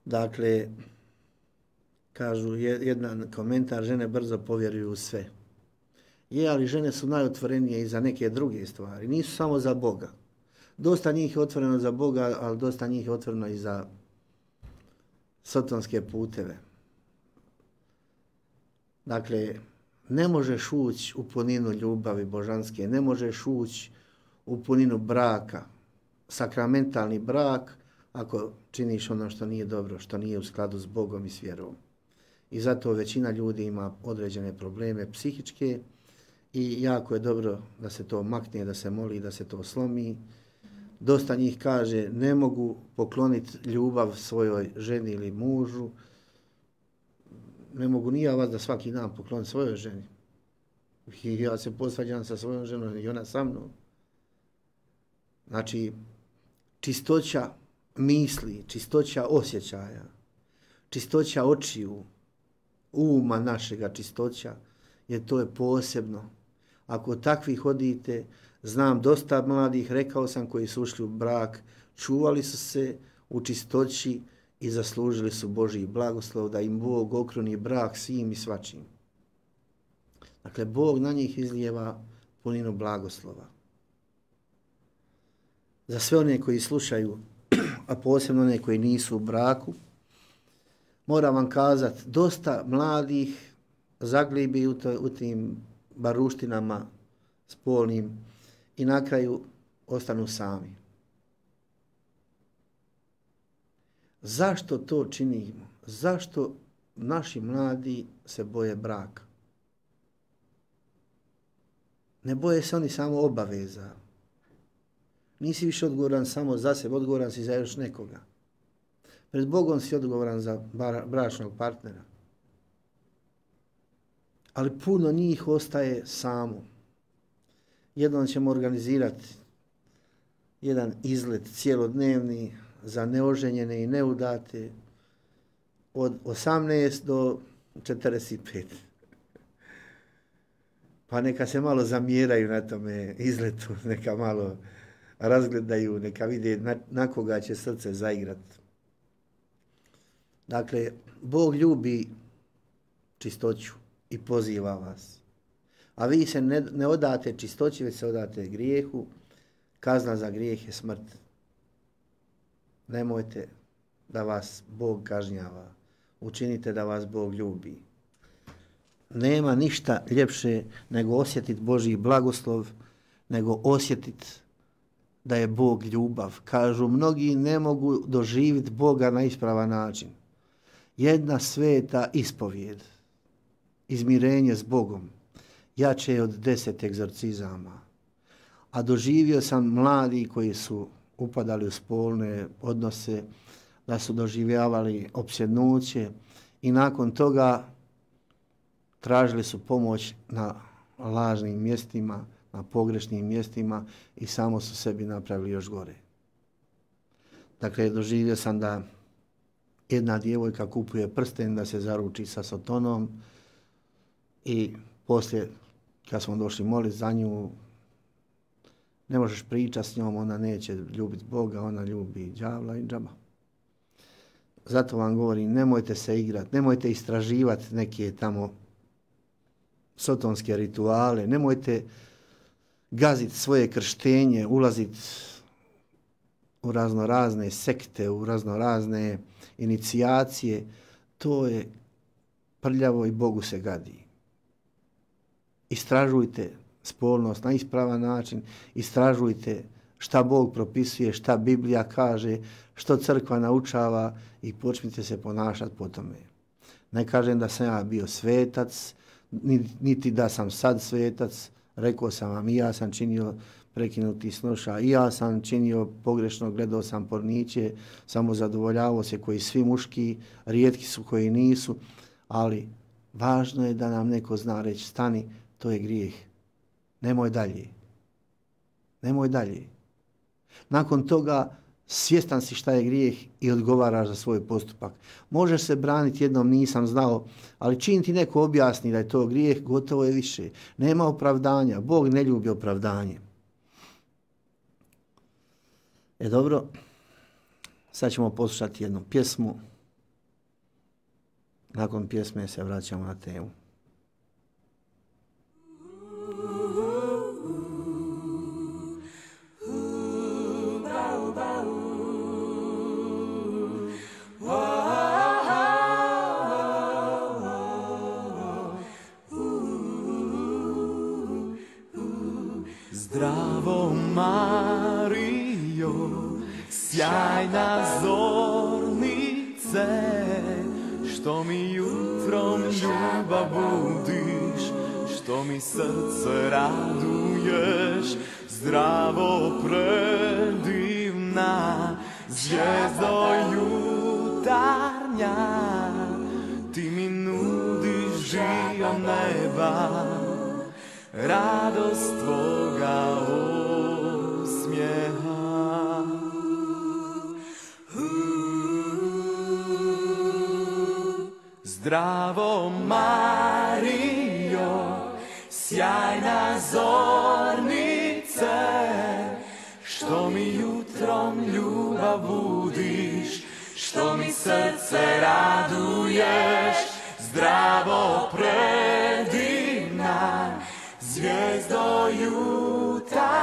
Speaker 3: Dakle, kažu jedan komentar, žene brzo povjeruju u sve. Je, ali žene su najotvorenije i za neke druge stvari. Nisu samo za Boga. Dosta njih je otvoreno za Boga, ali dosta njih je otvoreno i za sotonske puteve. Dakle, ne možeš ući u puninu ljubavi božanske, ne možeš ući u puninu braka, sakramentalni brak, ako činiš ono što nije dobro, što nije u skladu s Bogom i s vjerom. I zato većina ljudi ima određene probleme psihičke i jako je dobro da se to makne, da se moli, da se to slomi. Dosta njih kaže ne mogu pokloniti ljubav svojoj ženi ili mužu. Ne mogu ni ja vas da svaki dan pokloniti svojoj ženi. I ja se posvađam sa svojom ženom i ona sa mnom. Znači, čistoća misli, čistoća osjećaja, čistoća očiju, uma našega čistoća, jer to je posebno. Ako takvi hodite, znam dosta mladih, rekao sam, koji su ušli u brak, čuvali su se u čistoći i zaslužili su Božji blagoslov da im Bog okruni brak svim i svačim. Dakle, Bog na njih izlijeva puninu blagoslova. Za sve one koji slušaju, a posebno one koji nisu u braku, moram vam kazati, dosta mladih zaglibi u, to, u tim baruštinama spolnim i na kraju ostanu sami. Zašto to činimo? Zašto naši mladi se boje braka? Ne boje se oni samo obaveza. Nisi više odgovoran samo za sebe, odgovoran si za još nekoga. Pred Bogom si odgovoran za bračnog partnera. Ali puno njih ostaje samo. Jednom ćemo organizirati jedan izlet cijelodnevni za neoženjene i neudate od osamnaest do četrdeset pet. Pa neka se malo zamjeraju na tome izletu, neka malo razgledaju, neka vide na, na koga će srce zaigrati. Dakle, Bog ljubi čistoću i poziva vas. A vi se ne, ne odate čistoći, već se odate grijehu. Kazna za grijeh je smrt. Nemojte da vas Bog kažnjava. Učinite da vas Bog ljubi. Nema ništa ljepše nego osjetiti Božji blagoslov, nego osjetiti da je Bog ljubav. Kažu, mnogi ne mogu doživjeti Boga na ispravan način. Jedna sveta ispovijed, izmirenje s Bogom, jače je od deset egzorcizama. A doživio sam mladi koji su upadali u spolne odnose, da su doživljavali opsjednuće i nakon toga tražili su pomoć na lažnim mjestima, na pogrešnim mjestima i samo su sebi napravili još gore. Dakle, doživio sam da jedna djevojka kupuje prsten da se zaruči sa Sotonom i poslije, kad smo došli moliti za nju, ne možeš pričati s njom, ona neće ljubiti Boga, ona ljubi đavla i džaba. Zato vam govorim, nemojte se igrati, nemojte istraživati neke tamo sotonske rituale, nemojte gaziti svoje krštenje, ulaziti u razno razne sekte, u razno razne inicijacije. To je prljavo i Bogu se gadi. Istražujte spolnost na ispravan način, istražujte šta Bog propisuje, šta Biblija kaže, što crkva naučava i počnite se ponašati po tome. Ne kažem da sam ja bio svetac, niti da sam sad svetac, rekao sam vam i ja sam činio prekinuti snoša, i ja sam činio pogrešno, gledao sam porniće, samo zadovoljavao se koji svi muški, rijetki su koji nisu, ali važno je da nam neko zna reći, stani, to je grijeh. Nemoj dalje. Nemoj dalje. Nakon toga svjestan si šta je grijeh i odgovaraš za svoj postupak. Možeš se braniti jednom nisam znao, ali čim ti neko objasni da je to grijeh, gotovo je više. Nema opravdanja. Bog ne ljubi opravdanje. E dobro, sad ćemo poslušati jednu pjesmu. Nakon pjesme se vraćamo na temu.
Speaker 2: Zdravo Marijo, sjajna zornice, što mi jutrom ljubav budiš, što mi srce raduješ. Zdravo predivna zvijezdo jutarnja, ti mi nudiš dio neba, radost tvoga osmijeha. Zdravo Marijo, sjajna zornice, što mi jutrom ljubav budiš, što mi srce raduješ. Zdravo predivna zvijezdo jutarnja,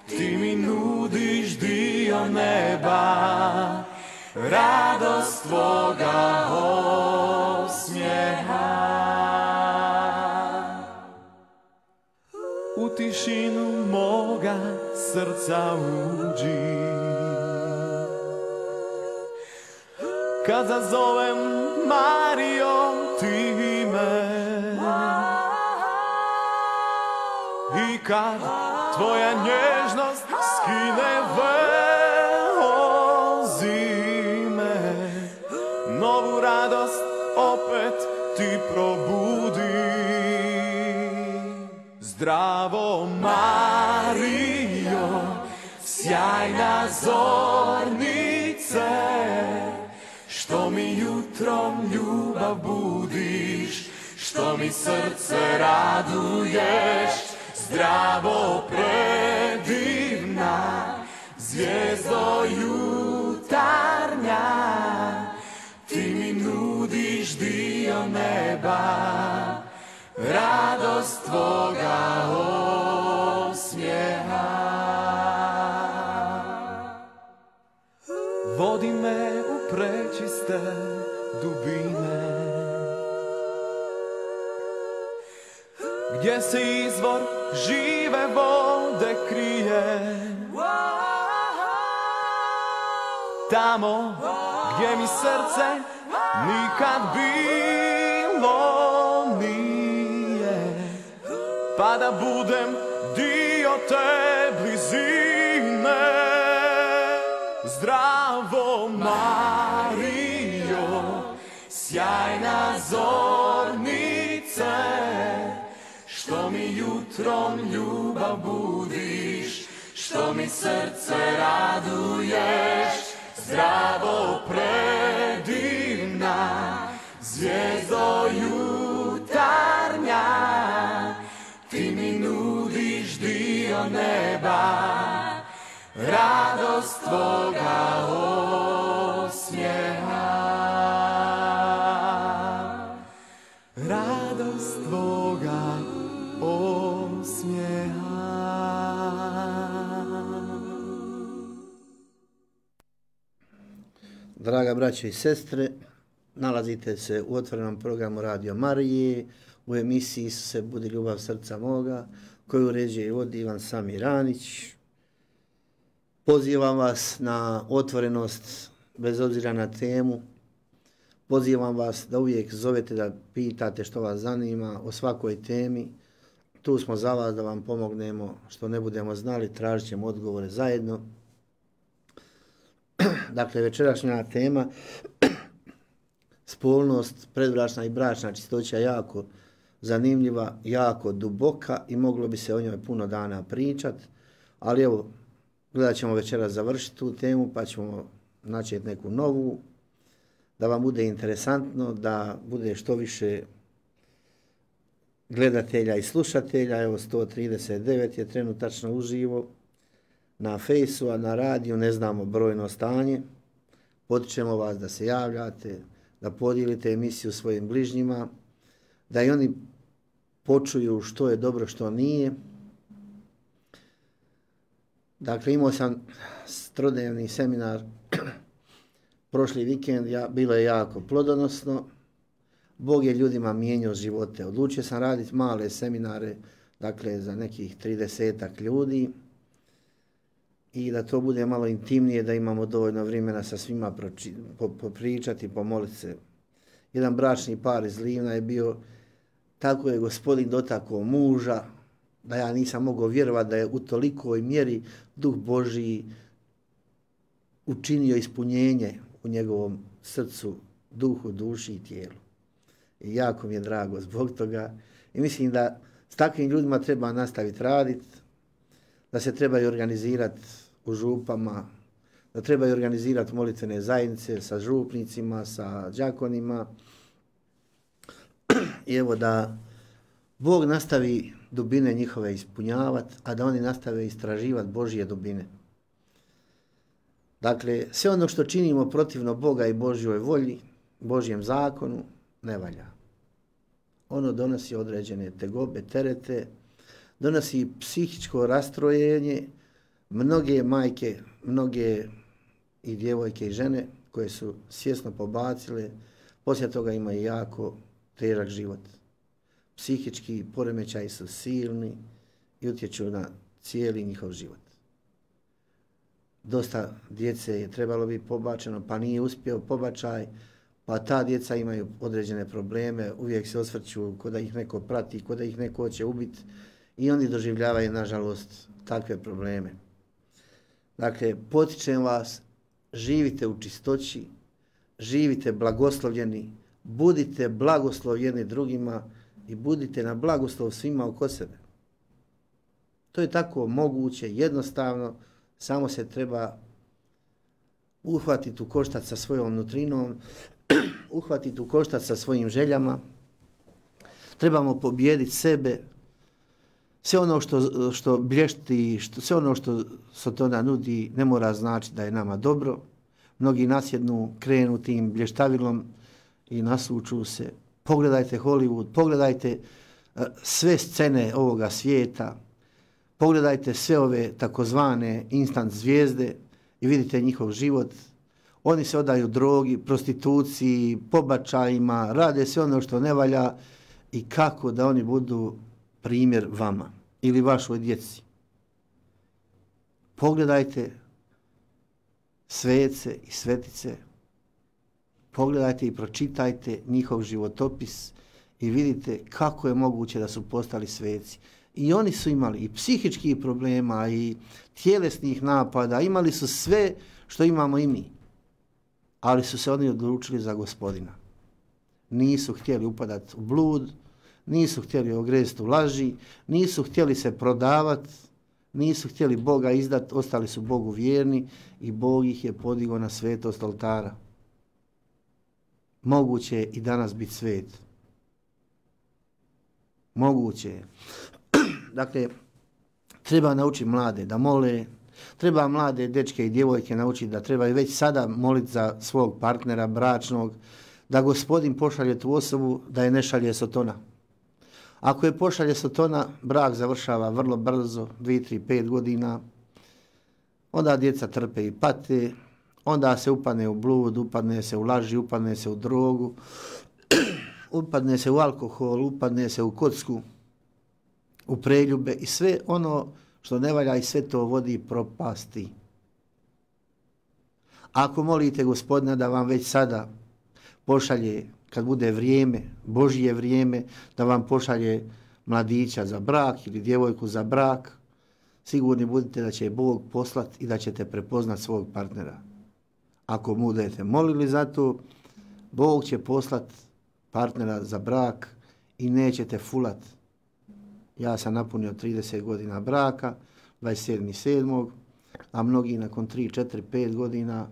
Speaker 2: ti mi nudiš dio neba, radost tvoga osmijeha. U tišinu moga srca uđi, kad zazovem Marijo ti me, i kad tvoja nježnost skine veo zime, novu radost opet ti probudi. Zdravo Marijo, sjajna zornice, što mi jutrom ljubav budiš, što mi srce raduješ. Zdravo predivna zvijezdo jutarnja, ti mi nudiš dio neba, radost tvoga osmijeha. Vodi me u prečiste dubine, gdje se izvor žive vode krije. Tamo gdje mi srce nikad bilo nije, pa da budem dio te blizine. Zdravo Marijo, sjajna zornice, što mi jutrom ljubav budiš, što mi srce raduješ. Zdravo predivna zvijezdo jutarnja, ti mi nudiš dio neba, radost tvoga osmijeha. Radost tvoga osmijeha.
Speaker 3: Draga braćo i sestre, nalazite se u otvorenom programu Radio Marije, u emisiji Isuse budi ljubav srca moga, koju uređuje i vodi Ivan Samir Anić. Pozivam vas na otvorenost bez obzira na temu. Pozivam vas da uvijek zovete, da pitate što vas zanima o svakoj temi. Tu smo za vas da vam pomognemo, što ne budemo znali, tražit ćemo odgovore zajedno. Dakle, večerašnja tema, spolnost, predbračna i bračna čistoća, jako zanimljiva, jako duboka i moglo bi se o njoj puno dana pričat, ali evo, gledat ćemo večeras završiti tu temu, pa ćemo načeti neku novu, da vam bude interesantno, da bude što više gledatelja i slušatelja. Evo sto trideset devet je trenutačno uživo na fejsu, a na radiju ne znamo brojno stanje. Potičemo vas da se javljate, da podijelite emisiju svojim bližnjima, da i oni počuju što je dobro, što nije. Dakle, imao sam trodnevni seminar prošli vikend, ja, bilo je jako plodonosno. Bog je ljudima mijenjao živote. Odlučio sam raditi male seminare, dakle za nekih tridesetak ljudi i da to bude malo intimnije, da imamo dovoljno vremena sa svima proči, po, popričati, pomoliti se. Jedan bračni par iz Livna je bio, tako je Gospodin dotakao muža, da ja nisam mogao vjerovati da je u tolikoj mjeri Duh Božiji učinio ispunjenje u njegovom srcu, duhu, duši i tijelu. I jako mi je drago zbog toga. I mislim da s takvim ljudima treba nastaviti raditi, da se trebaju organizirati u župama, da trebaju organizirati molitvene zajednice sa župnicima, sa đakonima. I evo da Bog nastavi dubine njihove ispunjavati, a da oni nastave istraživati Božje dubine. Dakle, sve ono što činimo protivno Boga i Božjoj volji, Božjem zakonu, ne valja. Ono donosi određene tegobe, terete, donosi psihičko rastrojenje. Mnoge majke, mnoge i djevojke i žene koje su svjesno pobacile, poslije toga imaju jako težak život. Psihički poremećaji su silni i utječu na cijeli njihov život. Dosta djece je trebalo biti pobačeno, pa nije uspio pobačaj, pa ta djeca imaju određene probleme, uvijek se osvrću ko da ih neko prati, ko da ih neko hoće ubiti i oni doživljavaju, nažalost, takve probleme. Dakle, potičem vas, živite u čistoći, živite blagoslovljeni, budite blagoslovljeni drugima i budite na blagoslov svima oko sebe. To je tako moguće, jednostavno, samo se treba uhvatiti u koštac sa svojom nutrinom, uhvatiti u koštac sa svojim željama. Trebamo pobijediti sebe. Sve ono što, što blješti, što, sve ono što Sotona nudi ne mora znači da je nama dobro. Mnogi nasjednu, krenu tim blještavilom i nasuču se. Pogledajte Hollywood, pogledajte uh, sve scene ovoga svijeta, pogledajte sve ove takozvane instant zvijezde i vidite njihov život. Oni se odaju drogi, prostituciji, pobačajima, rade sve ono što ne valja i kako da oni budu primjer vama ili vašoj djeci. Pogledajte svece i svetice, pogledajte i pročitajte njihov životopis i vidite kako je moguće da su postali sveci. I oni su imali i psihičkih problema i tjelesnih napada, imali su sve što imamo i mi. Ali su se oni odlučili za Gospodina. Nisu htjeli upadati u blud, nisu htjeli ogrezti u laži, nisu htjeli se prodavati, nisu htjeli Boga izdati, ostali su Bogu vjerni i Bog ih je podigao na svetost oltara. Moguće je i danas biti svet. Moguće je. Dakle, treba naučiti mlade da mole, treba mlade dečke i djevojke naučiti da trebaju već sada moliti za svog partnera bračnog, da Gospodin pošalje tu osobu, da je ne šalje Sotona. Ako je pošalje Sotona, brak završava vrlo brzo, dvije, tri, pet godina, onda djeca trpe i pate, onda se upadne u blud, upadne se u laži, upadne se u drogu, upadne se u alkohol, upadne se u kocku, u preljube i sve ono što ne valja i sve to vodi propasti. Ako molite Gospodina da vam već sada pošalje, kad bude vrijeme, Božje vrijeme, da vam pošalje mladića za brak ili djevojku za brak, sigurni budite da će Bog poslati i da ćete prepoznati svog partnera. Ako budete molili za to, Bog će poslati partnera za brak i nećete fulati. Ja sam napunio trideset godina braka, dvadeset sedmog sedmog a mnogi nakon tri, četiri, pet godina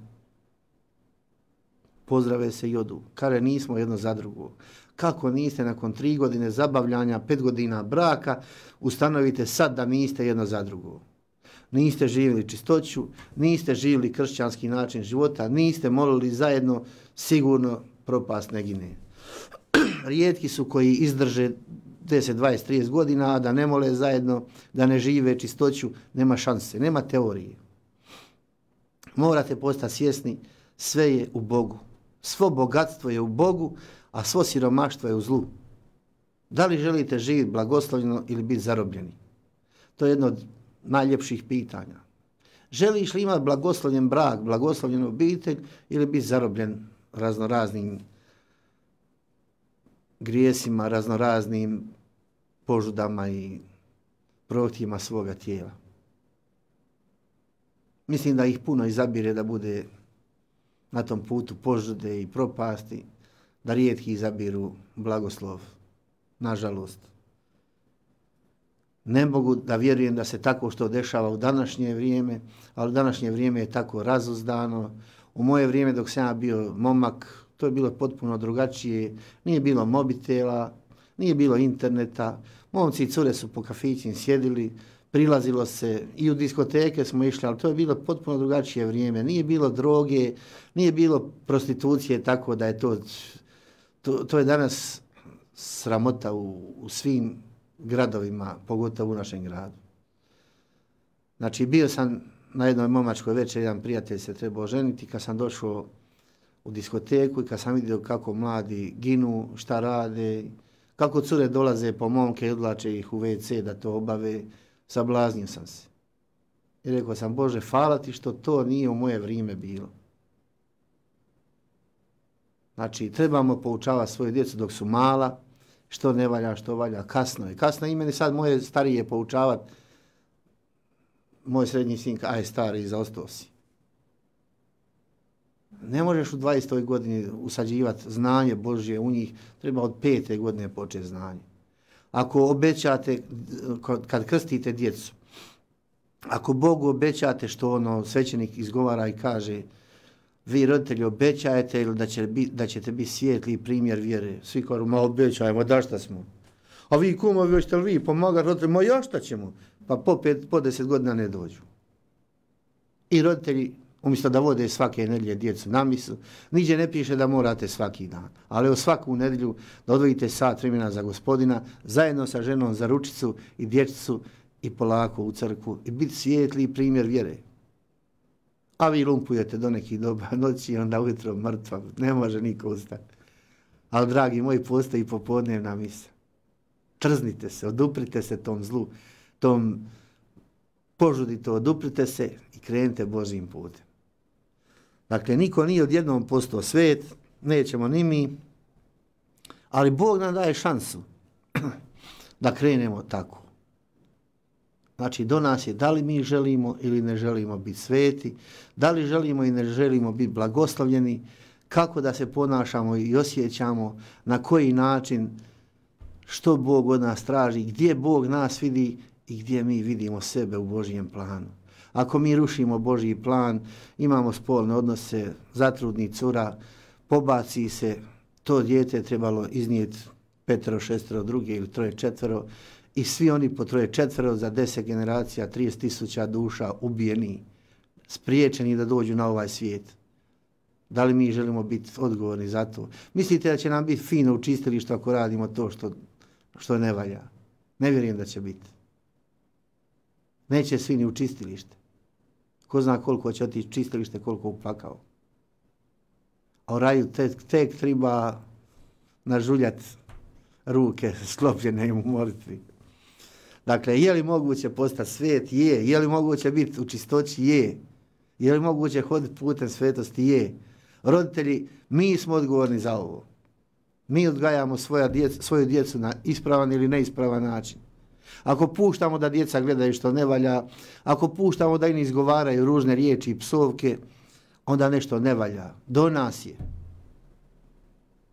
Speaker 3: pozdrave se i odu. Kare, nismo jedno za drugo. Kako niste nakon tri godine zabavljanja, pet godina braka, ustanovite sad da niste jedno za drugo. Niste živjeli čistoću, niste živjeli kršćanski način života, niste molili zajedno, sigurno propast ne gine. Rijetki su koji izdrže deset, dvadeset, trideset godina, a da ne mole zajedno, da ne žive čistoću, nema šanse, nema teorije. Morate postati svjesni, sve je u Bogu. Svo bogatstvo je u Bogu, a svo siromaštvo je u zlu. Da li želite živjeti blagoslovljeno ili biti zarobljeni? To je jedno od najljepših pitanja. Želiš li imati blagoslovljen brak, blagoslovljenu obitelj ili biti zarobljen raznoraznim grijesima, raznoraznim požudama i prohtjevima svoga tijela? Mislim da ih puno izabire da bude na tom putu požude i propasti, da rijetki izabiru blagoslov. Nažalost. Ne mogu da vjerujem da se tako što dešava u današnje vrijeme, ali današnje vrijeme je tako razuzdano. U moje vrijeme dok sam ja bio momak, to je bilo potpuno drugačije. Nije bilo mobitela, nije bilo interneta. Momci i cure su po kafićima sjedili, prilazilo se i u diskoteke smo išli, ali to je bilo potpuno drugačije vrijeme. Nije bilo droge, nije bilo prostitucije, tako da je to, to, to je danas sramota u, u svim gradovima, pogotovo u našem gradu. Znači, bio sam na jednoj momačkoj večeri, jedan prijatelj se trebao ženiti, kad sam došao u diskoteku i kad sam vidio kako mladi ginu, šta rade, kako cure dolaze po momke i odlače ih u ve ce da to obave, sablaznio sam se. I rekao sam, Bože, hvala ti što to nije u moje vrijeme bilo. Znači, trebamo poučavati svoju djecu dok su mala, što ne valja, što valja, kasno je. Kasno je i meni sad moje starije poučavati, moj srednji sin, aj stari, zaostao si. Ne možeš u dvadesetoj godini usađivati znanje Božje u njih, treba od pete godine početi znanje. Ako obećate, kad krstite djecu, ako Bogu obećate što ono svećenik izgovara i kaže, vi roditelji obećajete ili da, će bi, da ćete biti svijetli primjer vjere. Svi kažu, ma obećajemo, da šta smo? A vi kumovi, hoćete li vi pomagati roditeljima? Ja šta ćemo? Pa po, pet, po deset godina ne dođu. I roditelji, umjesto da vode svake nedjelje djecu na misu, niđe ne piše da morate svaki dan. Ali u svaku nedjelju da odvojite sat vremena za Gospodina, zajedno sa ženom za ručicu i dječicu i polako u crkvu i biti svijetli primjer vjere. A vi lumpujete do nekih doba noći i onda ujutro mrtva, ne može niko ustati. Ali, dragi moji, postoji popodnevna misa. Trznite se, oduprite se tom zlu, tom požudite, oduprite se i krenite Božjim putem. Dakle, niko nije odjednom postao svet, nećemo ni mi, ali Bog nam daje šansu da krenemo tako. Znači, do nas je da li mi želimo ili ne želimo biti sveti, da li želimo i ne želimo biti blagoslovljeni, kako da se ponašamo i osjećamo, na koji način, što Bog od nas traži, gdje Bog nas vidi i gdje mi vidimo sebe u Božjem planu. Ako mi rušimo Božji plan, imamo spolne odnose, zatrudni cura, pobaci se, to dijete trebalo iznijeti petero, šestero, druge ili troje, četvero, i svi oni po troje četvero za deset generacija, trideset tisuća duša ubijeni, spriječeni da dođu na ovaj svijet. Da li mi želimo biti odgovorni za to? Mislite da će nam biti fino u čistilištu ako radimo to što, što ne valja? Ne vjerujem da će biti. Neće svi ni u čistilište. Ko zna koliko će otići čistilište, koliko upakao. A u raju tek, tek treba nažuljati ruke sklopljene u molitvi. Dakle, je li moguće postati svet? Je. Je li moguće biti u čistoći? Je. Je li moguće hoditi putem svetosti? Je. Roditelji, mi smo odgovorni za ovo. Mi odgajamo svoja djeca, svoju djecu na ispravan ili neispravan način. Ako puštamo da djeca gledaju što ne valja, ako puštamo da im izgovaraju ružne riječi i psovke, onda nešto ne valja. Do nas je.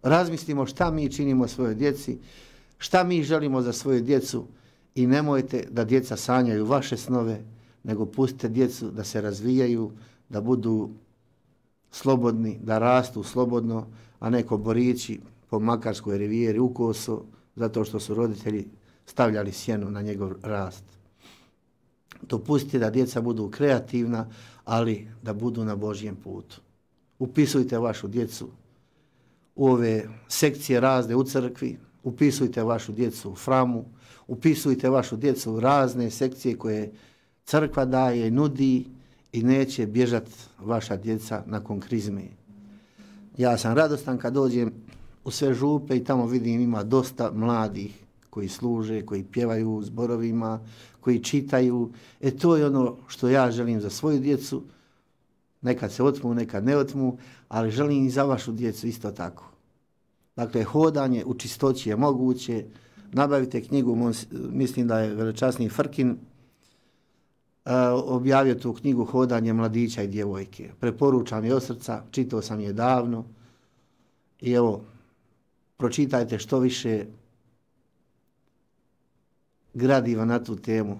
Speaker 3: Razmislimo šta mi činimo svojoj djeci, šta mi želimo za svoju djecu i nemojte da djeca sanjaju vaše snove, nego pustite djecu da se razvijaju, da budu slobodni, da rastu slobodno, a ne ko borići po Makarskoj rivijeri u koso, zato što su roditelji stavljali sjenu na njegov rast. Dopustite da djeca budu kreativna, ali da budu na Božjem putu. Upisujte vašu djecu u ove sekcije razne u crkvi, upisujte vašu djecu u framu, upisujte vašu djecu u razne sekcije koje crkva daje i nudi i neće bježati vaša djeca nakon krizme. Ja sam radostan kad dođem u sve župe i tamo vidim ima dosta mladih koji služe, koji pjevaju u zborovima, koji čitaju. E to je ono što ja želim za svoju djecu. Nekad se otmu, nekad ne otmu, ali želim i za vašu djecu isto tako. Dakle, hodanje u čistoći je moguće. Nabavite knjigu, mislim da je velečasni Frkin uh, objavio tu knjigu Hodanje mladića i djevojke. Preporučam je od srca, čitao sam je davno i evo, pročitajte što više gradiva na tu temu,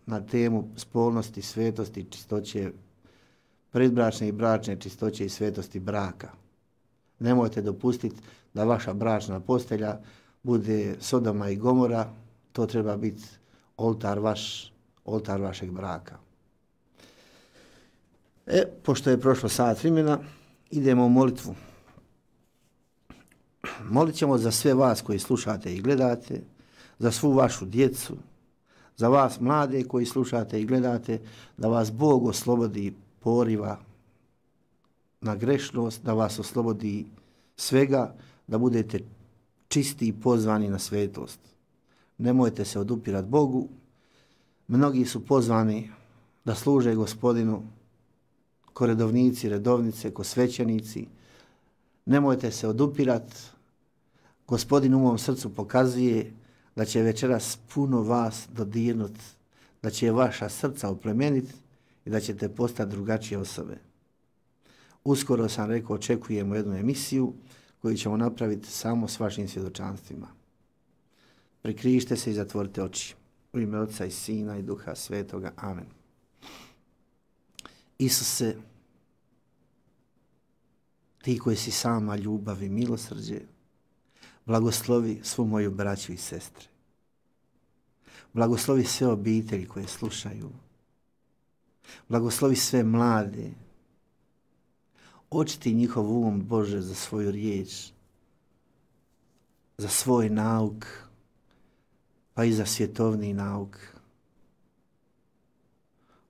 Speaker 3: na temu spolnosti, svetosti, čistoće, predbračne i bračne čistoće i svetosti braka. Nemojte dopustiti da vaša bračna postelja bude Sodoma i Gomora, to treba biti oltar vaš, oltar vašeg braka. E, pošto je prošlo sat vremena, idemo u molitvu. Molit ćemo za sve vas koji slušate i gledate, za svu vašu djecu, za vas mlade koji slušate i gledate, da vas Bog oslobodi poriva na grešnost, da vas oslobodi svega, da budete čisti i pozvani na svetost. Nemojte se odupirati Bogu. Mnogi su pozvani da služe Gospodinu, ko redovnici, redovnice, ko svećenici. Nemojte se odupirati. Gospodin u mom srcu pokazuje da će večeras puno vas dodirnut, da će vaša srca oplemeniti i da ćete postati drugačije osobe. Uskoro sam rekao, očekujemo jednu emisiju koju ćemo napraviti samo s vašim svjedočanstvima. Prikrižite se i zatvorite oči. U ime Otca i Sina i Duha Svetoga. Amen. Isuse, ti koji si sama ljubav i milosrđe, blagoslovi svu moju braću i sestre. Blagoslovi sve obitelji koje slušaju. Blagoslovi sve mlade. Očiti njihov um, Bože, za svoju riječ, za svoj nauk, pa i za svjetovni nauk.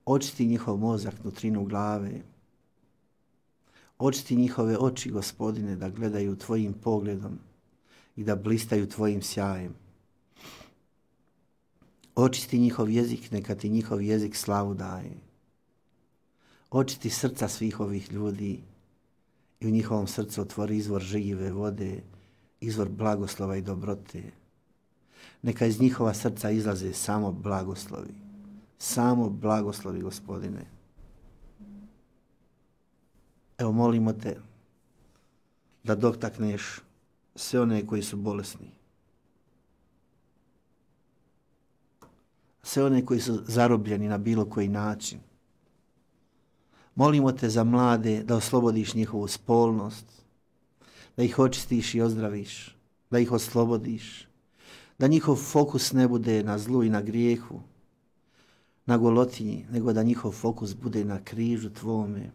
Speaker 3: Očiti njihov mozak, nutrinu glave. Očiti njihove oči, Gospodine, da gledaju tvojim pogledom i da blistaju tvojim sjajem. Očisti njihov jezik, neka ti njihov jezik slavu daje. Očiti srca svih ovih ljudi i u njihovom srcu otvori izvor žive vode, izvor blagoslova i dobrote. Neka iz njihova srca izlaze samo blagoslovi. Samo blagoslovi, Gospodine. Evo, molimo te da dotakneš sve one koji su bolesni. Sve one koji su zarobljeni na bilo koji način. Molimo te za mlade da oslobodiš njihovu spolnost, da ih očistiš i ozdraviš, da ih oslobodiš, da njihov fokus ne bude na zlu i na grijehu, na golotinji, nego da njihov fokus bude na križu tvome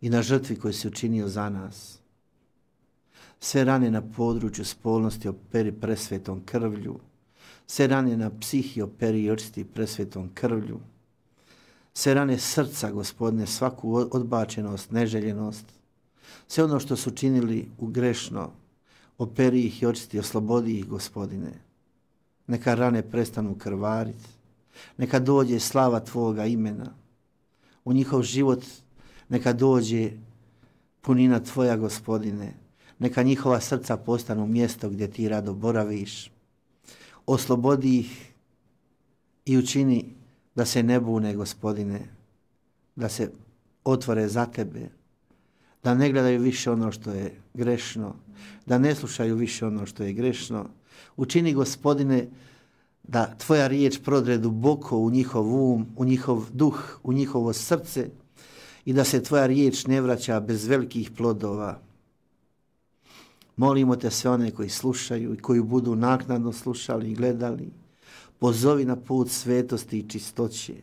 Speaker 3: i na žrtvi koju si učinio za nas. Sve rane na području spolnosti operi presvetom krvlju, sve rane na psihi operi i očisti presvetom krvlju, sve rane srca, Gospodine, svaku odbačenost, neželjenost, sve ono što su činili u grešno, operi ih i očisti, oslobodi ih, Gospodine. Neka rane prestanu krvariti, neka dođe slava tvoga imena. U njihov život neka dođe punina tvoja, Gospodine. Neka njihova srca postanu mjesto gdje ti rado boraviš. Oslobodi ih i učini da se ne bune, Gospodine, da se otvore za tebe, da ne gledaju više ono što je grešno, da ne slušaju više ono što je grešno. Učini, Gospodine, da tvoja riječ prodre duboko u njihov um, u njihov duh, u njihovo srce i da se tvoja riječ ne vraća bez velikih plodova. Molimo te sve one koji slušaju i koji budu naknadno slušali i gledali, pozovi na put svetosti i čistoće.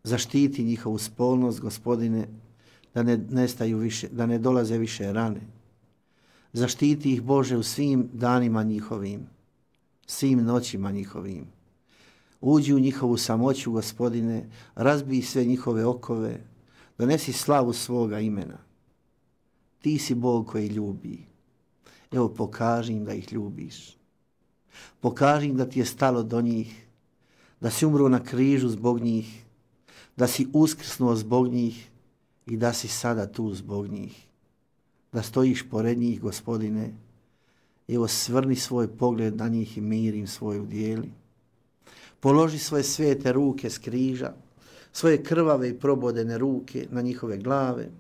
Speaker 3: Zaštiti njihovu spolnost, Gospodine, da ne nestaju više, da ne dolaze više rane. Zaštiti ih, Bože, u svim danima njihovim, svim noćima njihovim. Uđi u njihovu samoću, Gospodine, razbij sve njihove okove, donesi slavu svoga imena. Ti si Bog koji ljubi. Evo, pokaži im da ih ljubiš. Pokaži im da ti je stalo do njih, da si umro na križu zbog njih, da si uskrsnuo zbog njih i da si sada tu zbog njih. Da stojiš pored njih, Gospodine. Evo, svrni svoj pogled na njih i mir im svoj udjeli. Položi svoje svete ruke s križa, svoje krvave i probodene ruke na njihove glave.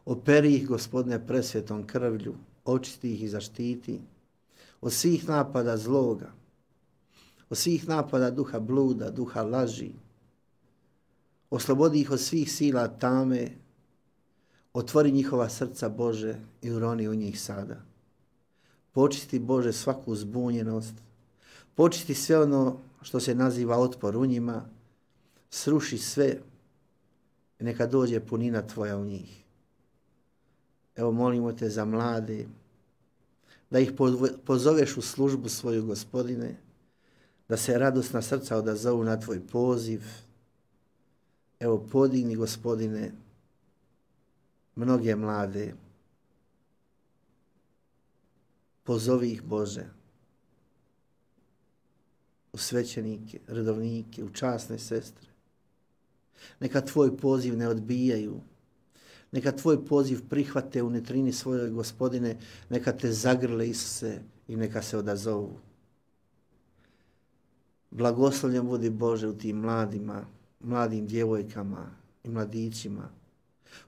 Speaker 3: Operi ih, Gospodine, presvetom krvlju, očisti ih i zaštiti od svih napada zloga, od svih napada duha bluda, duha laži. Oslobodi ih od svih sila tame, otvori njihova srca, Bože, i uroni u njih sada. Počisti, Bože, svaku zbunjenost, počisti sve ono što se naziva otpor u njima, sruši sve i neka dođe punina Tvoja u njih. Evo, molimo te za mlade, da ih pozoveš u službu svoju, Gospodine, da se radosna srca odazovu na Tvoj poziv. Evo, podigni, Gospodine, mnoge mlade. Pozovi ih, Bože, u svećenike, redovnike, u časne sestre. Neka Tvoj poziv ne odbijaju. Neka Tvoj poziv prihvate u netrini svojoj, Gospodine, neka te zagrle, Isuse, i neka se odazovu. Blagoslovljen budi, Bože, u tim mladima, mladim djevojkama i mladićima.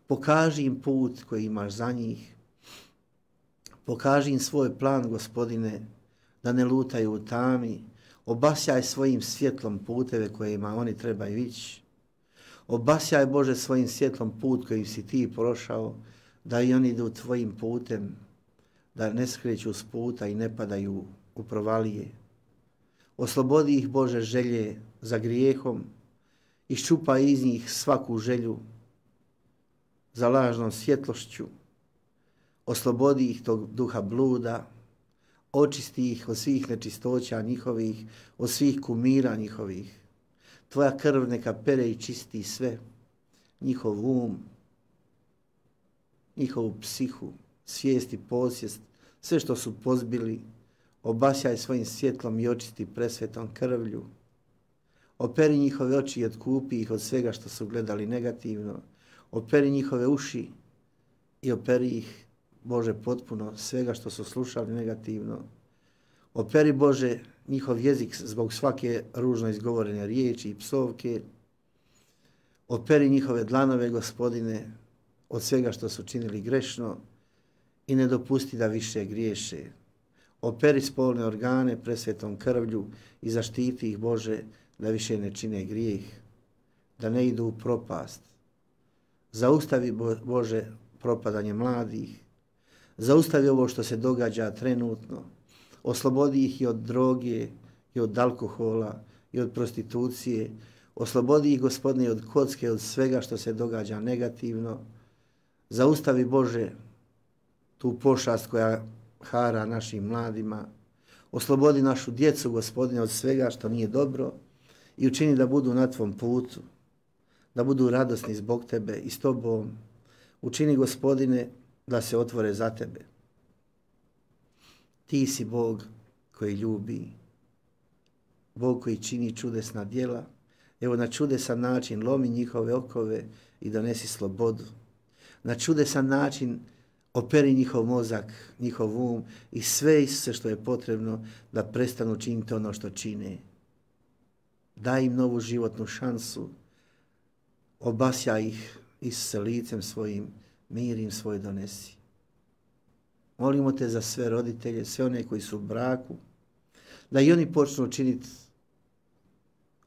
Speaker 3: Pokaži im put koji imaš za njih. Pokaži im svoj plan, Gospodine, da ne lutaju u tami. Obasjaj svojim svjetlom puteve kojima oni trebaju ići. Obasjaj, Bože, svojim svjetlom put kojim si ti prošao, da i oni idu tvojim putem, da ne skreću s puta i ne padaju u provalije. Oslobodi ih, Bože, želje za grijehom, iščupaj iz njih svaku želju za lažnom svjetlošću. Oslobodi ih tog duha bluda, očisti ih od svih nečistoća njihovih, od svih kumira njihovih. Tvoja krv neka pere i čisti sve, njihov um, njihovu psihu, svijest i posvijest, sve što su pozbili, obasjaj svojim svjetlom i očisti presvetom krvlju. Operi njihove oči i otkupi ih od svega što su gledali negativno. Operi njihove uši i operi ih, Bože, potpuno svega što su slušali negativno. Operi, Bože, njihov jezik zbog svake ružno izgovorene riječi i psovke. Operi njihove dlanove, Gospodine, od svega što su činili grešno i ne dopusti da više griješe. Operi spolne organe presvetom krvlju i zaštiti ih, Bože, da više ne čine grijeh, da ne idu u propast. Zaustavi, Bože, propadanje mladih. Zaustavi ovo što se događa trenutno. Oslobodi ih i od droge, i od alkohola, i od prostitucije. Oslobodi ih, Gospodine, od kocke, od svega što se događa negativno. Zaustavi, Bože, tu pošast koja hara našim mladima. Oslobodi našu djecu, Gospodine, od svega što nije dobro i učini da budu na Tvom putu, da budu radosni zbog Tebe i s Tobom. Učini, Gospodine, da se otvore za Tebe. Ti si Bog koji ljubi, Bog koji čini čudesna djela. Evo, na čudesan način lomi njihove okove i donesi slobodu. Na čudesan način operi njihov mozak, njihov um i sve Isuse što je potrebno da prestanu činiti ono što čine. Daj im novu životnu šansu. Obasja ih, Isuse, licem svojim, mir im svoj donesi. Molimo te za sve roditelje, sve one koji su u braku, da i oni počnu činiti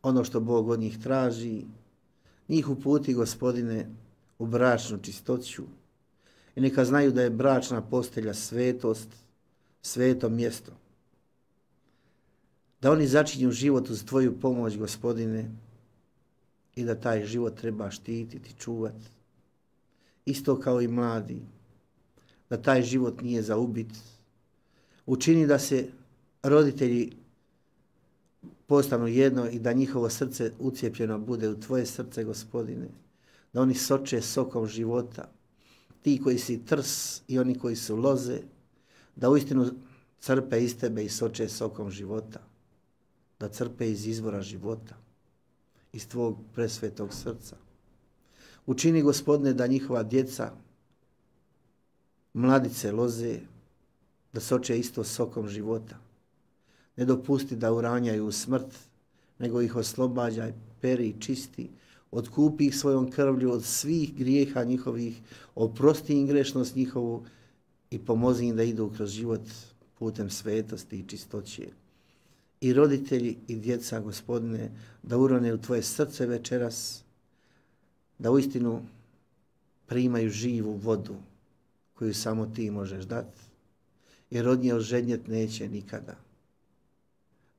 Speaker 3: ono što Bog od njih traži, njih uputi, Gospodine, u bračnu čistoću i neka znaju da je bračna postelja svetost, sveto mjesto. Da oni začinju život uz Tvoju pomoć, Gospodine, i da taj život treba štititi, čuvati. Isto kao i mladi, da taj život nije za ubit. Učini da se roditelji postanu jedno i da njihovo srce ucijepljeno bude u Tvoje srce, Gospodine. Da oni soče sokom života. Ti koji si trs i oni koji su loze, da uistinu crpe iz Tebe i soče sokom života. Da crpe iz izvora života, iz Tvog presvetog srca. Učini, Gospodine, da njihova djeca, mladice, loze, da soče isto sokom života. Ne dopusti da uranjaju u smrt, nego ih oslobađaj, peri i čisti, otkupi ih svojom krvlju od svih grijeha njihovih, oprosti im grešnost njihovu i pomozi im da idu kroz život putem svetosti i čistoće. I roditelji i djeca, Gospodine, da urone u Tvoje srce večeras, da uistinu primaju živu vodu koju samo Ti možeš dati, jer od nje ožednjet neće nikada.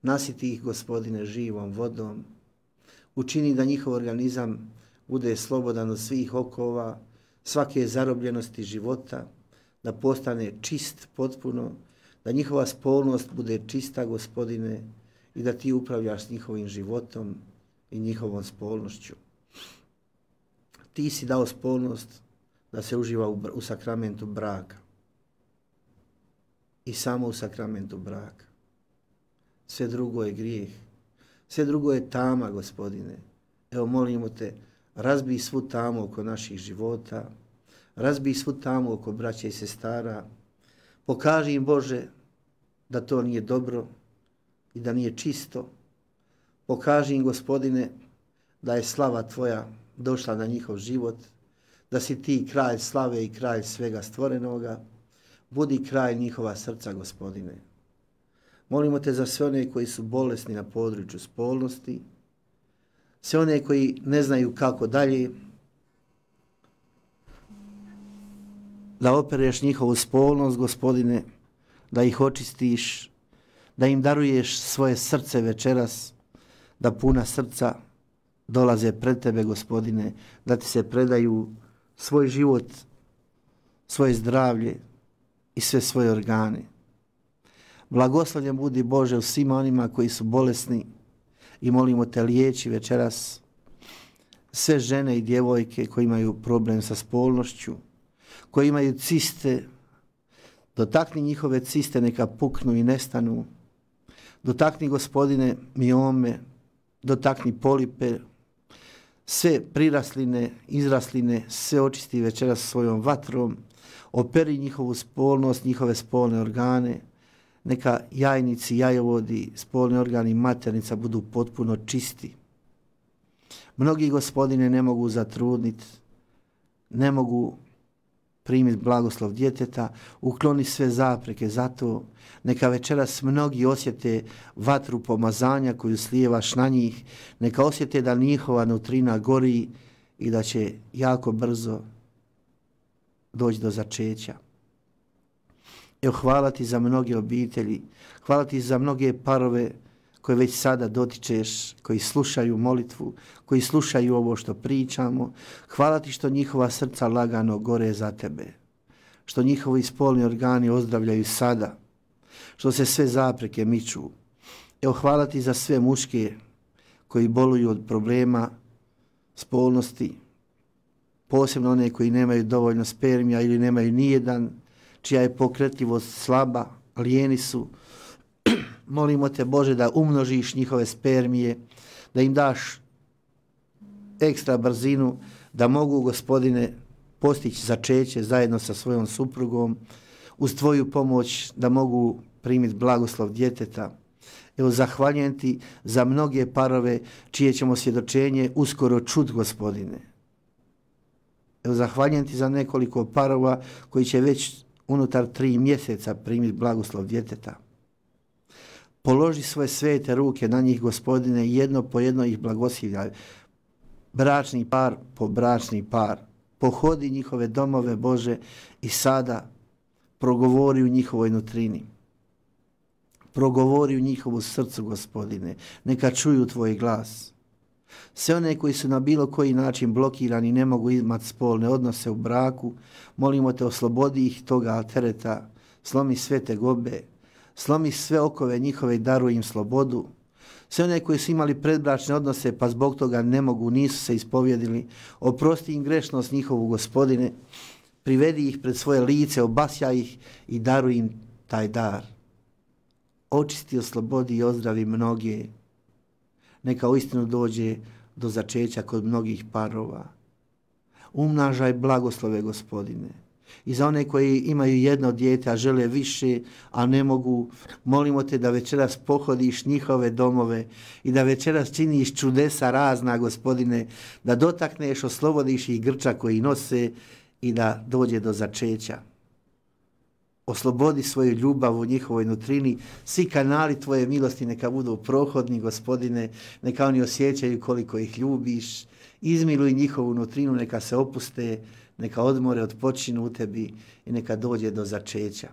Speaker 3: Nasiti ih, Gospodine, živom vodom, učini da njihov organizam bude slobodan od svih okova, svake zarobljenosti života, da postane čist potpuno, da njihova spolnost bude čista, Gospodine, i da Ti upravljaš s njihovim životom i njihovom spolnošću. Ti si dao spolnost da se uživa u, u sakramentu braka. I samo u sakramentu braka. Sve drugo je grijeh. Sve drugo je tama, Gospodine. Evo, molimo Te, razbij svu tamu oko naših života, razbij svu tamu oko braća i sestara, pokaži im, Bože, da to nije dobro i da nije čisto. Pokaži im, Gospodine, da je slava Tvoja došla na njihov život, da si Ti kralj slave i kralj svega stvorenoga. Budi kralj njihova srca, Gospodine. Molimo Te za sve one koji su bolesni na području spolnosti, sve one koji ne znaju kako dalje, da opereš njihovu spolnost, Gospodine, da ih očistiš, da im daruješ svoje srce večeras, da puna srca dolaze pred Tebe, Gospodine, da Ti se predaju svoj život, svoje zdravlje i sve svoje organe. Blagoslovljen budi, Bože, u svima onima koji su bolesni i molimo Te, liječi večeras sve žene i djevojke koji imaju problem sa spolnošću, koji imaju ciste. Dotakni njihove ciste, neka puknu i nestanu. Dotakni, Gospodine, miome, dotakni polipe, sve prirasline, izrasline, sve očisti večeras svojom vatrom, operi njihovu spolnost, njihove spolne organe, neka jajnici, jajovodi, spolni organi, maternica budu potpuno čisti. Mnogi, Gospodine, ne mogu zatrudniti, ne mogu primiti blagoslov djeteta, ukloni sve zapreke za to. Neka večeras mnogi osjete vatru pomazanja koju slijevaš na njih, neka osjete da njihova nutrina gori i da će jako brzo doći do začeća. Evo, hvala Ti za mnoge obitelji, hvala Ti za mnoge parove koje već sada dotičeš, koji slušaju molitvu, koji slušaju ovo što pričamo. Hvala Ti što njihova srca lagano gore za Tebe, što njihovi spolni organi ozdravljaju sada, što se sve zapreke miču. Evo, hvala Ti za sve muške koji boluju od problema spolnosti, posebno one koji nemaju dovoljno spermija ili nemaju nijedan, čija je pokretljivost slaba, lijeni su. Molimo Te, Bože, da umnožiš njihove spermije, da im daš ekstra brzinu, da mogu, Gospodine, postići začeće zajedno sa svojom suprugom, uz Tvoju pomoć da mogu primiti blagoslov djeteta. Evo, zahvaljujem Ti za mnoge parove čije ćemo svjedočenje uskoro čut, Gospodine. Evo, zahvaljujem Ti za nekoliko parova koji će već unutar tri mjeseca primiti blagoslov djeteta. Položi svoje svete ruke na njih, Gospodine, jedno po jedno ih blagoslivljaj. Bračni par po bračni par. Pohodi njihove domove, Bože, i sada progovori u njihovoj nutrini. Progovori u njihovu srcu, Gospodine. Neka čuju tvoj glas. Sve one koji su na bilo koji način blokirani, ne mogu imati spolne odnose u braku, molimo te, oslobodi ih toga tereta, slomi sve tegobe, slomi sve okove njihove i daruj im slobodu. Sve one koji su imali predbračne odnose pa zbog toga ne mogu, nisu se ispovjedili, oprosti im grešnost njihovu, Gospodine, privedi ih pred svoje lice, obasjaj ih i daruj im taj dar. Očisti, oslobodi i ozdravi mnoge. Neka uistinu dođe do začeća kod mnogih parova. Umnažaj blagoslove, Gospodine. I za one koji imaju jedno dijete, a žele više, a ne mogu, molimo te da večeras pohodiš njihove domove i da večeras činiš čudesa razna, Gospodine, da dotakneš, oslobodiš ih grča koji nose i da dođe do začeća. Oslobodi svoju ljubav u njihovoj nutrini, svi kanali tvoje milosti neka budu prohodni, Gospodine, neka oni osjećaju koliko ih ljubiš, izmiluj njihovu nutrinu, neka se opuste, neka odmore, odpočinu u tebi i neka dođe do začeća.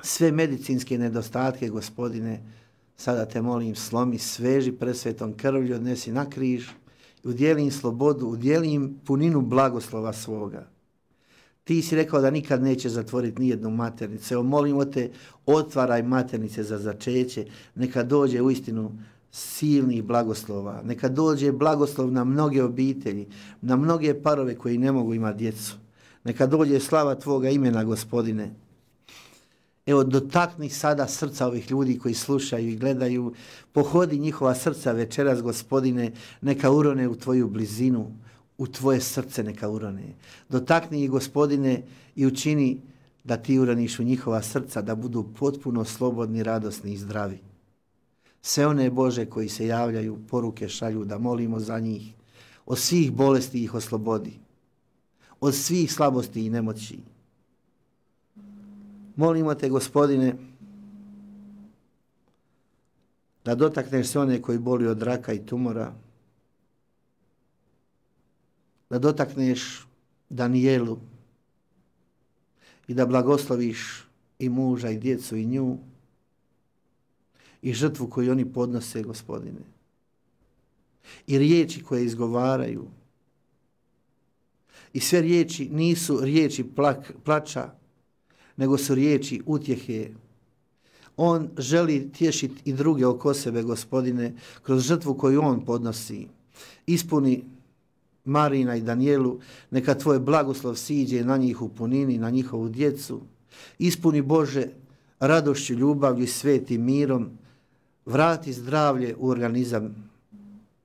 Speaker 3: Sve medicinske nedostatke, Gospodine, sada te molim, slomi, sveži presvetom krvlju, odnesi na križ, udjeli im slobodu, udjeli im puninu blagoslova svoga. Ti si rekao da nikad neće zatvoriti nijednu maternicu. Evo, molimo te, otvaraj maternice za začeće, neka dođe uistinu silnih blagoslova, neka dođe blagoslov na mnoge obitelji, na mnoge parove koji ne mogu imati djecu. Neka dođe slava tvoga imena, Gospodine. Evo, dotakni sada srca ovih ljudi koji slušaju i gledaju, pohodi njihova srca večeras, Gospodine, neka urone u tvoju blizinu, u tvoje srce neka urone. Dotakni ih, Gospodine, i učini da ti uraniš u njihova srca, da budu potpuno slobodni, radosni i zdravi. Sve one, Bože, koji se javljaju, poruke šalju, da molimo za njih, od svih bolesti ih oslobodi, od svih slabosti i nemoći. Molimo te, Gospodine, da dotakneš sve one koji boli od raka i tumora, da dotakneš Danijelu i da blagosloviš i muža i djecu i nju i žrtvu koju oni podnose, Gospodine. I riječi koje izgovaraju. I sve riječi nisu riječi plak, plača, nego su riječi utjehe. On želi tješiti i druge oko sebe, Gospodine, kroz žrtvu koju on podnosi. Ispuni Marina i Danijelu, neka tvoj blagoslov siđe na njih u punini, na njihovu djecu. Ispuni, Bože, radošću, ljubavlju i svetim mirom. Vrati zdravlje u organizam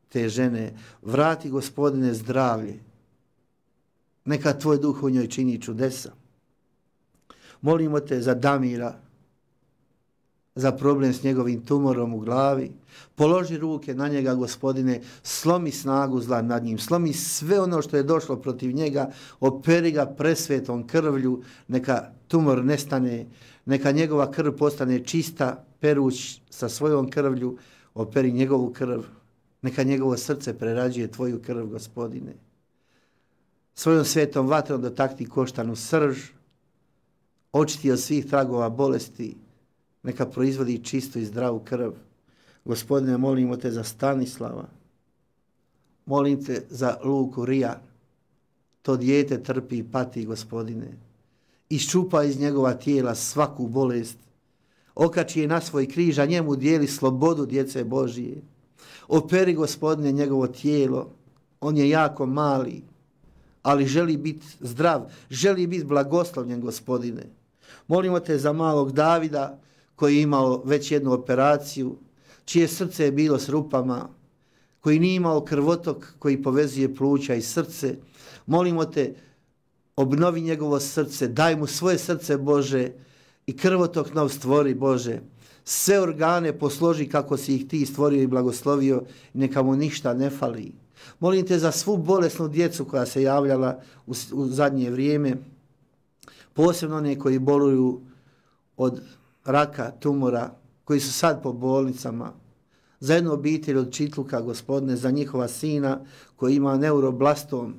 Speaker 3: te žene. Vrati, Gospodine, zdravlje. Neka tvoj duh u njoj čini čudesa. Molimo te za Damira, za problem s njegovim tumorom u glavi. Položi ruke na njega, Gospodine, slomi snagu zla nad njim, slomi sve ono što je došlo protiv njega, operi ga presvetom krvlju, neka tumor nestane, neka njegova krv postane čista, peruć sa svojom krvlju, operi njegovu krv, neka njegovo srce prerađuje tvoju krv, Gospodine. Svojom svetom vatrom dotakni koštanu srž, očiti od svih tragova bolesti, neka proizvodi čistu i zdravu krv. Gospodine, molimo te za Stanislava, molim te za Luku Rija, to dijete trpi i pati, Gospodine. Iščupa iz njegova tijela svaku bolest, okači je na svoj križ, a njemu dijeli slobodu djece Božije. Operi, Gospodine, njegovo tijelo, on je jako mali, ali želi biti zdrav, želi biti blagoslovljen, Gospodine. Molimo te za malog Davida, koji je imao već jednu operaciju, čije srce je bilo s rupama, koji nije imao krvotok koji povezuje pluća i srce. Molimo te, obnovi njegovo srce, daj mu svoje srce, Bože, i krvotok nov stvori, Bože. Sve organe posloži kako si ih ti stvorio i blagoslovio i neka mu ništa ne fali. Molim te za svu bolesnu djecu koja se javljala u, u zadnje vrijeme, posebno one koji boluju od raka, tumora, koji su sad po bolnicama, za jednu obitelj od Čitluka, Gospodine, za njihova sina koji ima neuroblastom.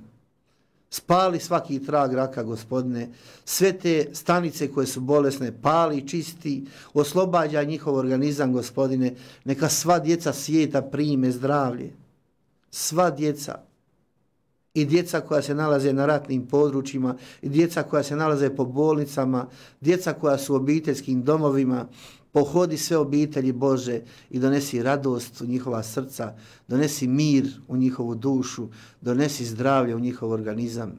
Speaker 3: Spali svaki trag raka, Gospodine, sve te stanice koje su bolesne, pali, čisti, oslobađa njihov organizam, Gospodine, neka sva djeca svijeta prime zdravlje. Sva djeca. I djeca koja se nalaze na ratnim područjima, i djeca koja se nalaze po bolnicama, djeca koja su u obiteljskim domovima, pohodi sve obitelji Bože i donesi radost u njihova srca, donesi mir u njihovu dušu, donesi zdravlje u njihov organizam.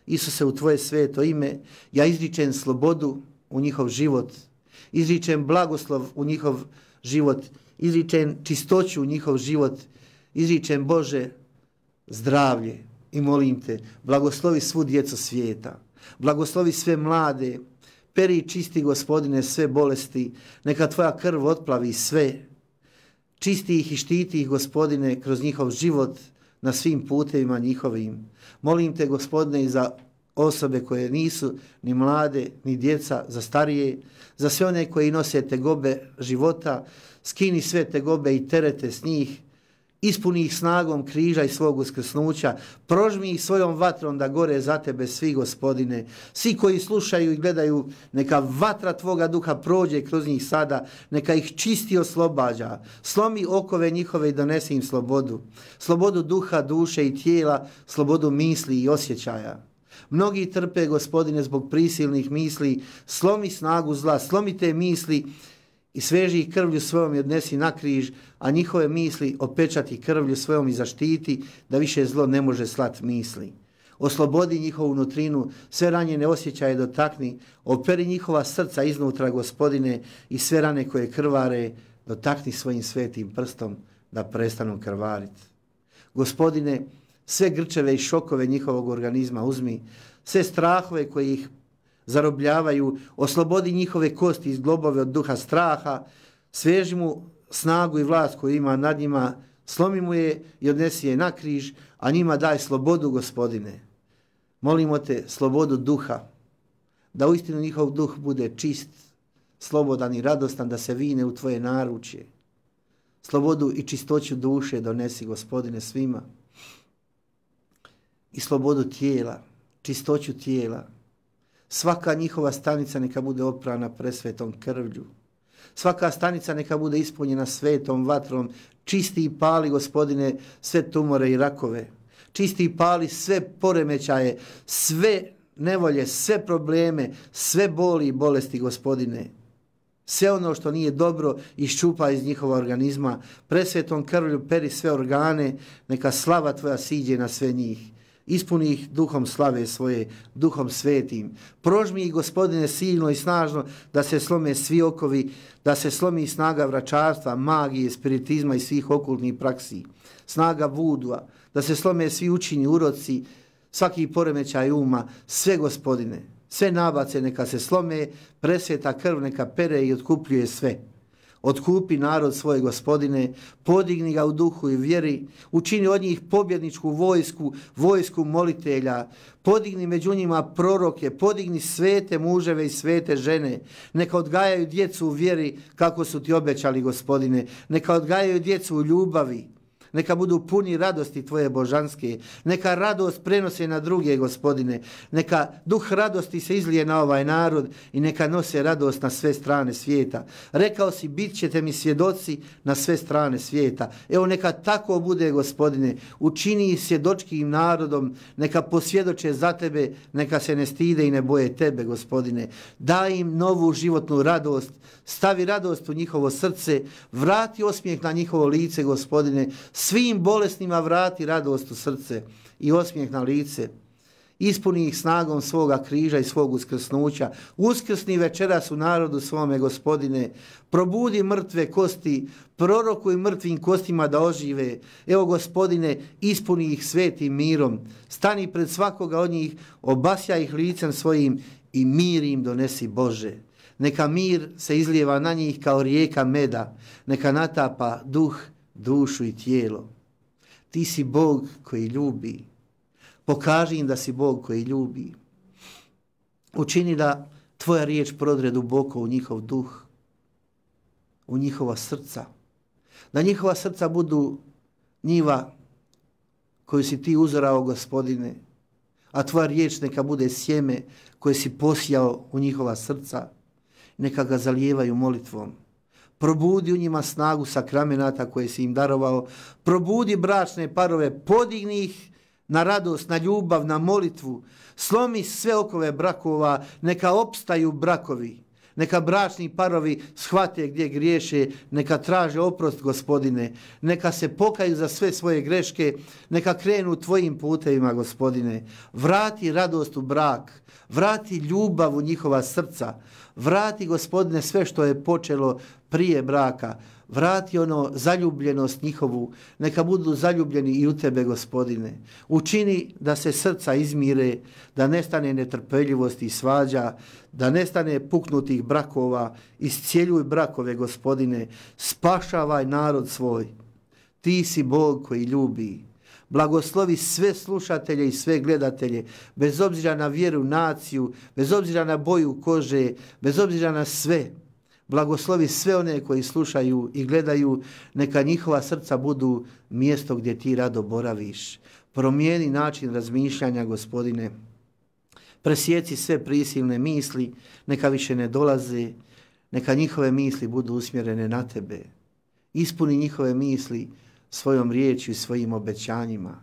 Speaker 3: Isuse, u Tvoje sveto ime, ja izričem slobodu u njihov život, izričem blagoslov u njihov život, izričem čistoću u njihov život, izričem, Bože, zdravlje. I molim Te, blagoslovi svu djecu svijeta, blagoslovi sve mlade, peri i čisti, Gospodine, sve bolesti, neka Tvoja krv otplavi sve, čisti ih i štiti ih, Gospodine, kroz njihov život na svim putevima njihovim. Molim Te, Gospodine, i za osobe koje nisu ni mlade, ni djeca, za starije, za sve one koji nose tegobe života, skini sve tegobe i terete s njih, ispuni ih snagom križa i svog uskrsnuća, prožmi ih svojom vatrom da gore za Tebe svi, Gospodine. Svi koji slušaju i gledaju, neka vatra Tvoga duha prođe kroz njih sada, neka ih čisti i oslobađa. Slomi okove njihove i donesi im slobodu. Slobodu duha, duše i tijela, slobodu misli i osjećaja. Mnogi trpe, Gospodine, zbog prisilnih misli, slomi snagu zla, slomi te misli i sveži ih krvlju svojom i odnesi na križ, a njihove misli opečati krvlju svojom i zaštiti, da više zlo ne može slat misli. Oslobodi njihovu nutrinu, sve ranjene osjećaje dotakni, operi njihova srca iznutra, Gospodine, i sve rane koje krvare dotakni svojim svetim prstom da prestanu krvariti. Gospodine, sve grčeve i šokove njihovog organizma uzmi, sve strahove koji ih zarobljavaju, oslobodi njihove kosti iz globove od duha straha, sveži mu snagu i vlast koju ima nad njima, slomi mu je i odnesi je na križ, a njima daj slobodu, Gospodine. Molimo Te slobodu duha, da uistinu njihov duh bude čist, slobodan i radostan, da se vine u Tvoje naručje. Slobodu i čistoću duše donesi, Gospodine, svima. I slobodu tijela, čistoću tijela. Svaka njihova stanica neka bude oprana presvetom krvlju. Svaka stanica neka bude ispunjena svetom vatrom. Čisti i pali, Gospodine, sve tumore i rakove. Čisti i pali sve poremećaje, sve nevolje, sve probleme, sve boli i bolesti, Gospodine. Sve ono što nije dobro iščupa iz njihova organizma. Presvetom krvlju peri sve organe, neka slava Tvoja siđe na sve njih. Ispuni ih duhom slave svoje, duhom svetim. Prožmi ih, Gospodine, silno i snažno, da se slome svi okovi, da se slomi snaga vračarstva, magije, spiritizma i svih okultnih praksi. Snaga vudua, da se slome svi učini, uroci, svaki poremećaj uma, sve, Gospodine, sve nabace neka se slome, presveta krv neka pere i otkupljuje sve. Otkupi narod svoj, Gospodine, podigni ga u duhu i vjeri, učini od njih pobjedničku vojsku, vojsku molitelja, podigni među njima proroke, podigni svete muževe i svete žene, neka odgajaju djecu u vjeri kako su Ti obećali, Gospodine, neka odgajaju djecu u ljubavi, neka budu puni radosti Tvoje božanske, neka radost prenose na druge, Gospodine, neka duh radosti se izlije na ovaj narod i neka nose radost na sve strane svijeta. Rekao si, bit ćete mi svjedoci na sve strane svijeta. Evo neka tako bude, Gospodine, učini ih svjedočkim narodom, neka posvjedoče za Tebe, neka se ne stide i ne boje Tebe, Gospodine. Daj im novu životnu radost, stavi radost u njihovo srce, vrati osmijeh na njihovo lice, Gospodine, svim bolesnima vrati radost u srce i osmijeh na lice. Ispuni ih snagom svoga križa i svog uskrsnuća. Uskrsni večeras u narodu svome, Gospodine. Probudi mrtve kosti, prorokuj mrtvim kostima da ožive. Evo, Gospodine, ispuni ih svetim mirom. Stani pred svakoga od njih, obasja ih licem svojim i mir im donesi, Bože. Neka mir se izlijeva na njih kao rijeka meda. Neka natapa duh, dušu i tijelo. Ti si Bog koji ljubi. Pokaži im da si Bog koji ljubi. Učini da Tvoja riječ prodre duboko u njihov duh. u njihova srca. Da njihova srca budu njiva koju si ti uzorao, Gospodine, a tvoja riječ neka bude sjeme koje si posijao u njihova srca. Neka ga zalijevaju molitvom. Probudi u njima snagu sakramenata koje si im darovao. Probudi bračne parove, podigni ih na radost, na ljubav, na molitvu. Slomi sve okove brakova, neka opstaju brakovi. Neka bračni parovi shvate gdje griješe, neka traže oprost, Gospodine. Neka se pokaju za sve svoje greške, neka krenu tvojim putevima, Gospodine. Vrati radost u brak, vrati ljubav u njihova srca. Vrati, Gospodine, sve što je počelo prije braka. Vrati ono zaljubljenost njihovu. Neka budu zaljubljeni i u tebe, Gospodine. Učini da se srca izmire, da nestane netrpeljivosti i svađa, da nestane puknutih brakova. Iscijeljuj brakove, Gospodine. Spašavaj narod svoj. Ti si Bog koji ljubi. Blagoslovi sve slušatelje i sve gledatelje, bez obzira na vjeru, naciju, bez obzira na boju kože, bez obzira na sve. Blagoslovi sve one koji slušaju i gledaju, neka njihova srca budu mjesto gdje ti rado boraviš. Promijeni način razmišljanja, Gospodine. Presjeci sve prisilne misli, neka više ne dolaze, neka njihove misli budu usmjerene na tebe. Ispuni njihove misli svojom riječju i svojim obećanjima.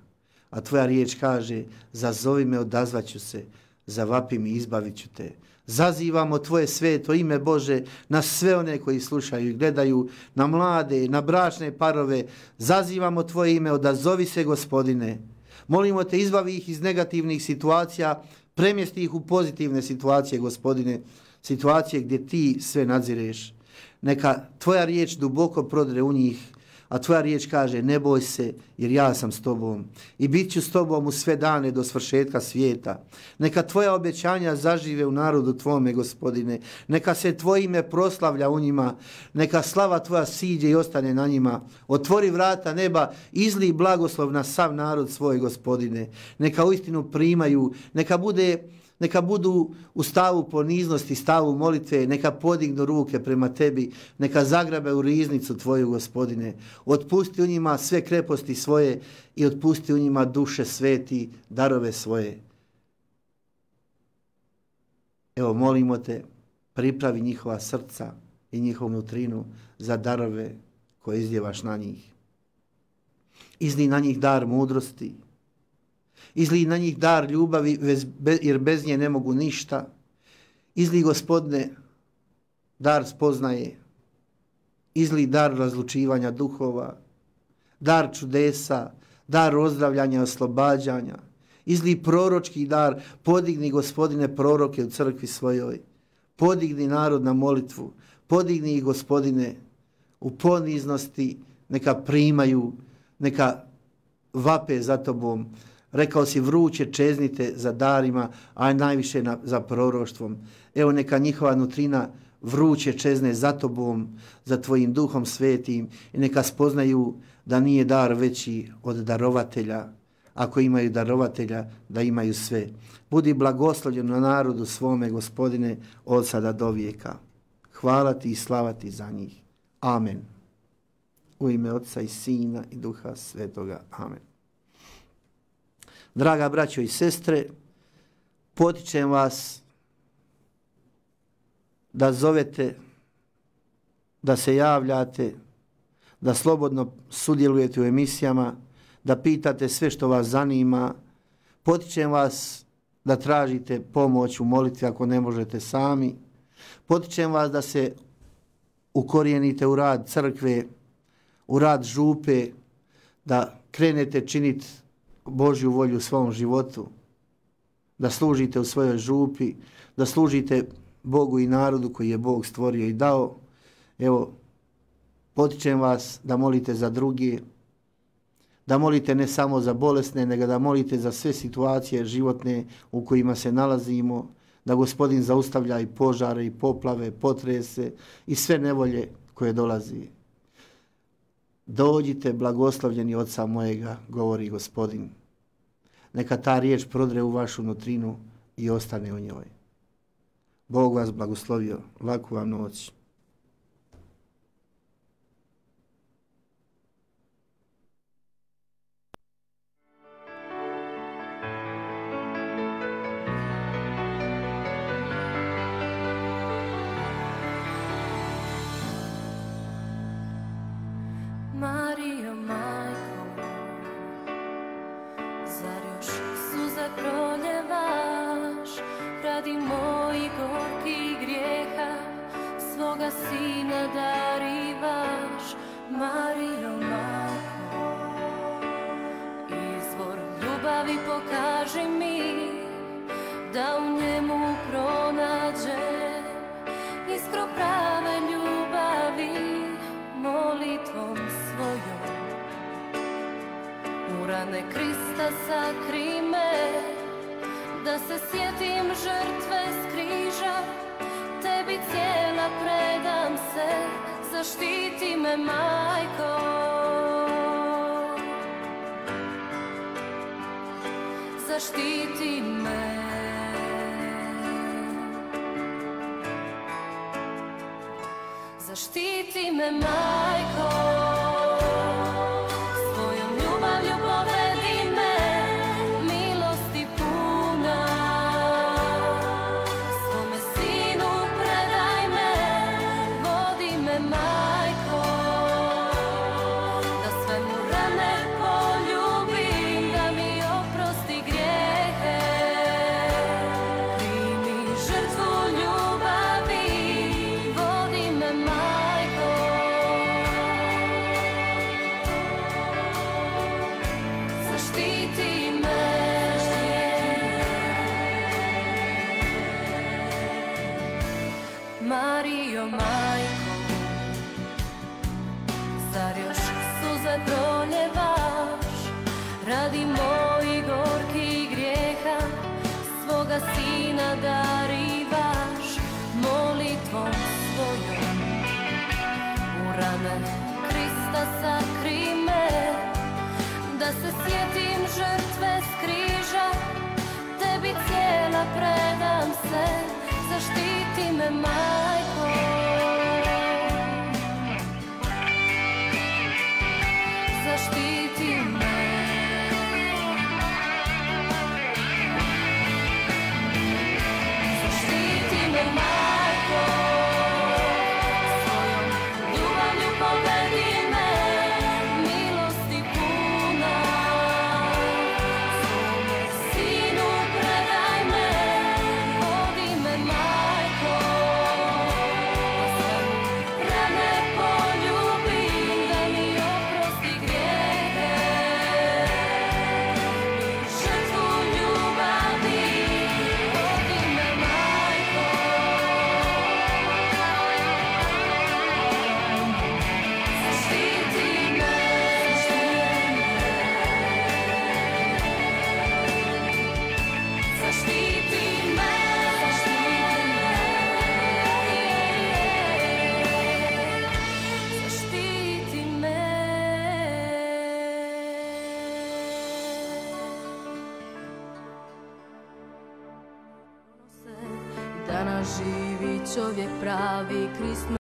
Speaker 3: A tvoja riječ kaže, zazovi me, odazvaću se, zavapi mi, izbavit ću te. Zazivamo tvoje sveto ime, Bože, na sve one koji slušaju i gledaju, na mlade, na bračne parove. Zazivamo tvoje ime, odazovi se, Gospodine. Molimo te, izbavi ih iz negativnih situacija, premjesti ih u pozitivne situacije, Gospodine, situacije gdje ti sve nadzireš. Neka tvoja riječ duboko prodre u njih, a tvoja riječ kaže, ne boj se, jer ja sam s tobom i bit ću s tobom u sve dane do svršetka svijeta. Neka tvoja obećanja zažive u narodu tvome, Gospodine. Neka se tvoje ime proslavlja u njima. Neka slava tvoja siđe i ostane na njima. Otvori vrata neba, izli blagoslov na sav narod svoj, Gospodine. Neka uistinu primaju, neka bude... Neka budu u stavu poniznosti, stavu molitve, neka podignu ruke prema tebi, neka zagrabe u riznicu tvoju, Gospodine. Otpusti u njima sve kreposti svoje i otpusti u njima duše sveti, darove svoje. Evo, molimo te, pripravi njihova srca i njihovu nutrinu za darove koje izdjevaš na njih. Izli na njih dar mudrosti, izli na njih dar ljubavi, jer bez nje ne mogu ništa. Izli, Gospodine, dar spoznaje. Izli dar razlučivanja duhova, dar čudesa, dar ozdravljanja i oslobađanja. Izli proročki dar, podigni, Gospodine, proroke u crkvi svojoj. Podigni narod na molitvu, podigni ih, Gospodine, u poniznosti, neka primaju, neka vape za tobom. Rekao si, vruće čeznite za darima, a najviše na, za proroštvom. Evo, neka njihova nutrina vruće čezne za tobom, za tvojim duhom svetim i neka spoznaju da nije dar veći od darovatelja. Ako imaju darovatelja, da imaju sve. Budi blagoslovljen na narodu svome, Gospodine, od sada do vijeka. Hvala ti i slava ti za njih. Amen. U ime Otca i Sina i Duha Svetoga. Amen. Draga braćo i sestre, potičem vas da zovete, da se javljate, da slobodno sudjelujete u emisijama, da pitate sve što vas zanima. Potičem vas da tražite pomoć u molitvi ako ne možete sami. Potičem vas da se ukorijenite u rad crkve, u rad župe, da krenete činiti Božju volju u svom životu, da služite u svojoj župi, da služite Bogu i narodu koji je Bog stvorio i dao. Evo, potičem vas da molite za druge, da molite ne samo za bolesne, nego da molite za sve situacije životne u kojima se nalazimo, da Gospodin zaustavlja i požare, i poplave, potrese i sve nevolje koje dolazi. Dođite blagoslovljeni Oca mojega, govori Gospodin. Neka ta riječ prodre u vašu nutrinu i ostane u njoj. Bog vas blagoslovio. Laku vam noć.
Speaker 6: suze proljevaš radi mojih gorkih grijeha, svoga sina darivaš, Marijo majko. Izvor ljubavi pokaži mi, da u njemu pronađem iskru prave ljubavi, molitvom svojom. U rane Krista sakri me, da se sjetim žrtve s križa, tebi cijela predam se, zaštiti me majko. Zaštiti me. Zaštiti me majko, svojom ljubavlju povedi me, milosti puna. Svome sinu predaj me, vodi me majko, da sve mu rane poljubim, da mi oprosti grijehe. Primi žrtvu ljubavi, vodi me majko. Zaštiti me. Marijo majko, zar još suze proljevaš radi mojih gorkih grijeha, svoga sina darivaš, molitvom svojom. U rane Krista sakri me, da se sjetim žrtve s križa, tebi cijela predam se, zaštiti me majko. Zaštiti me. Zaštiti me majko, svojom ljubavlju povedi me, milosti puna. Svome sinu predaj me, vodi me majko, da sve mu rane poljubim, da mi oprosti grijehe. I žrtvu ljubavi, vodi me majko. Zaštiti me. Zaštiti me. Zaštiti me. Danas živi čovjek pravi, Krist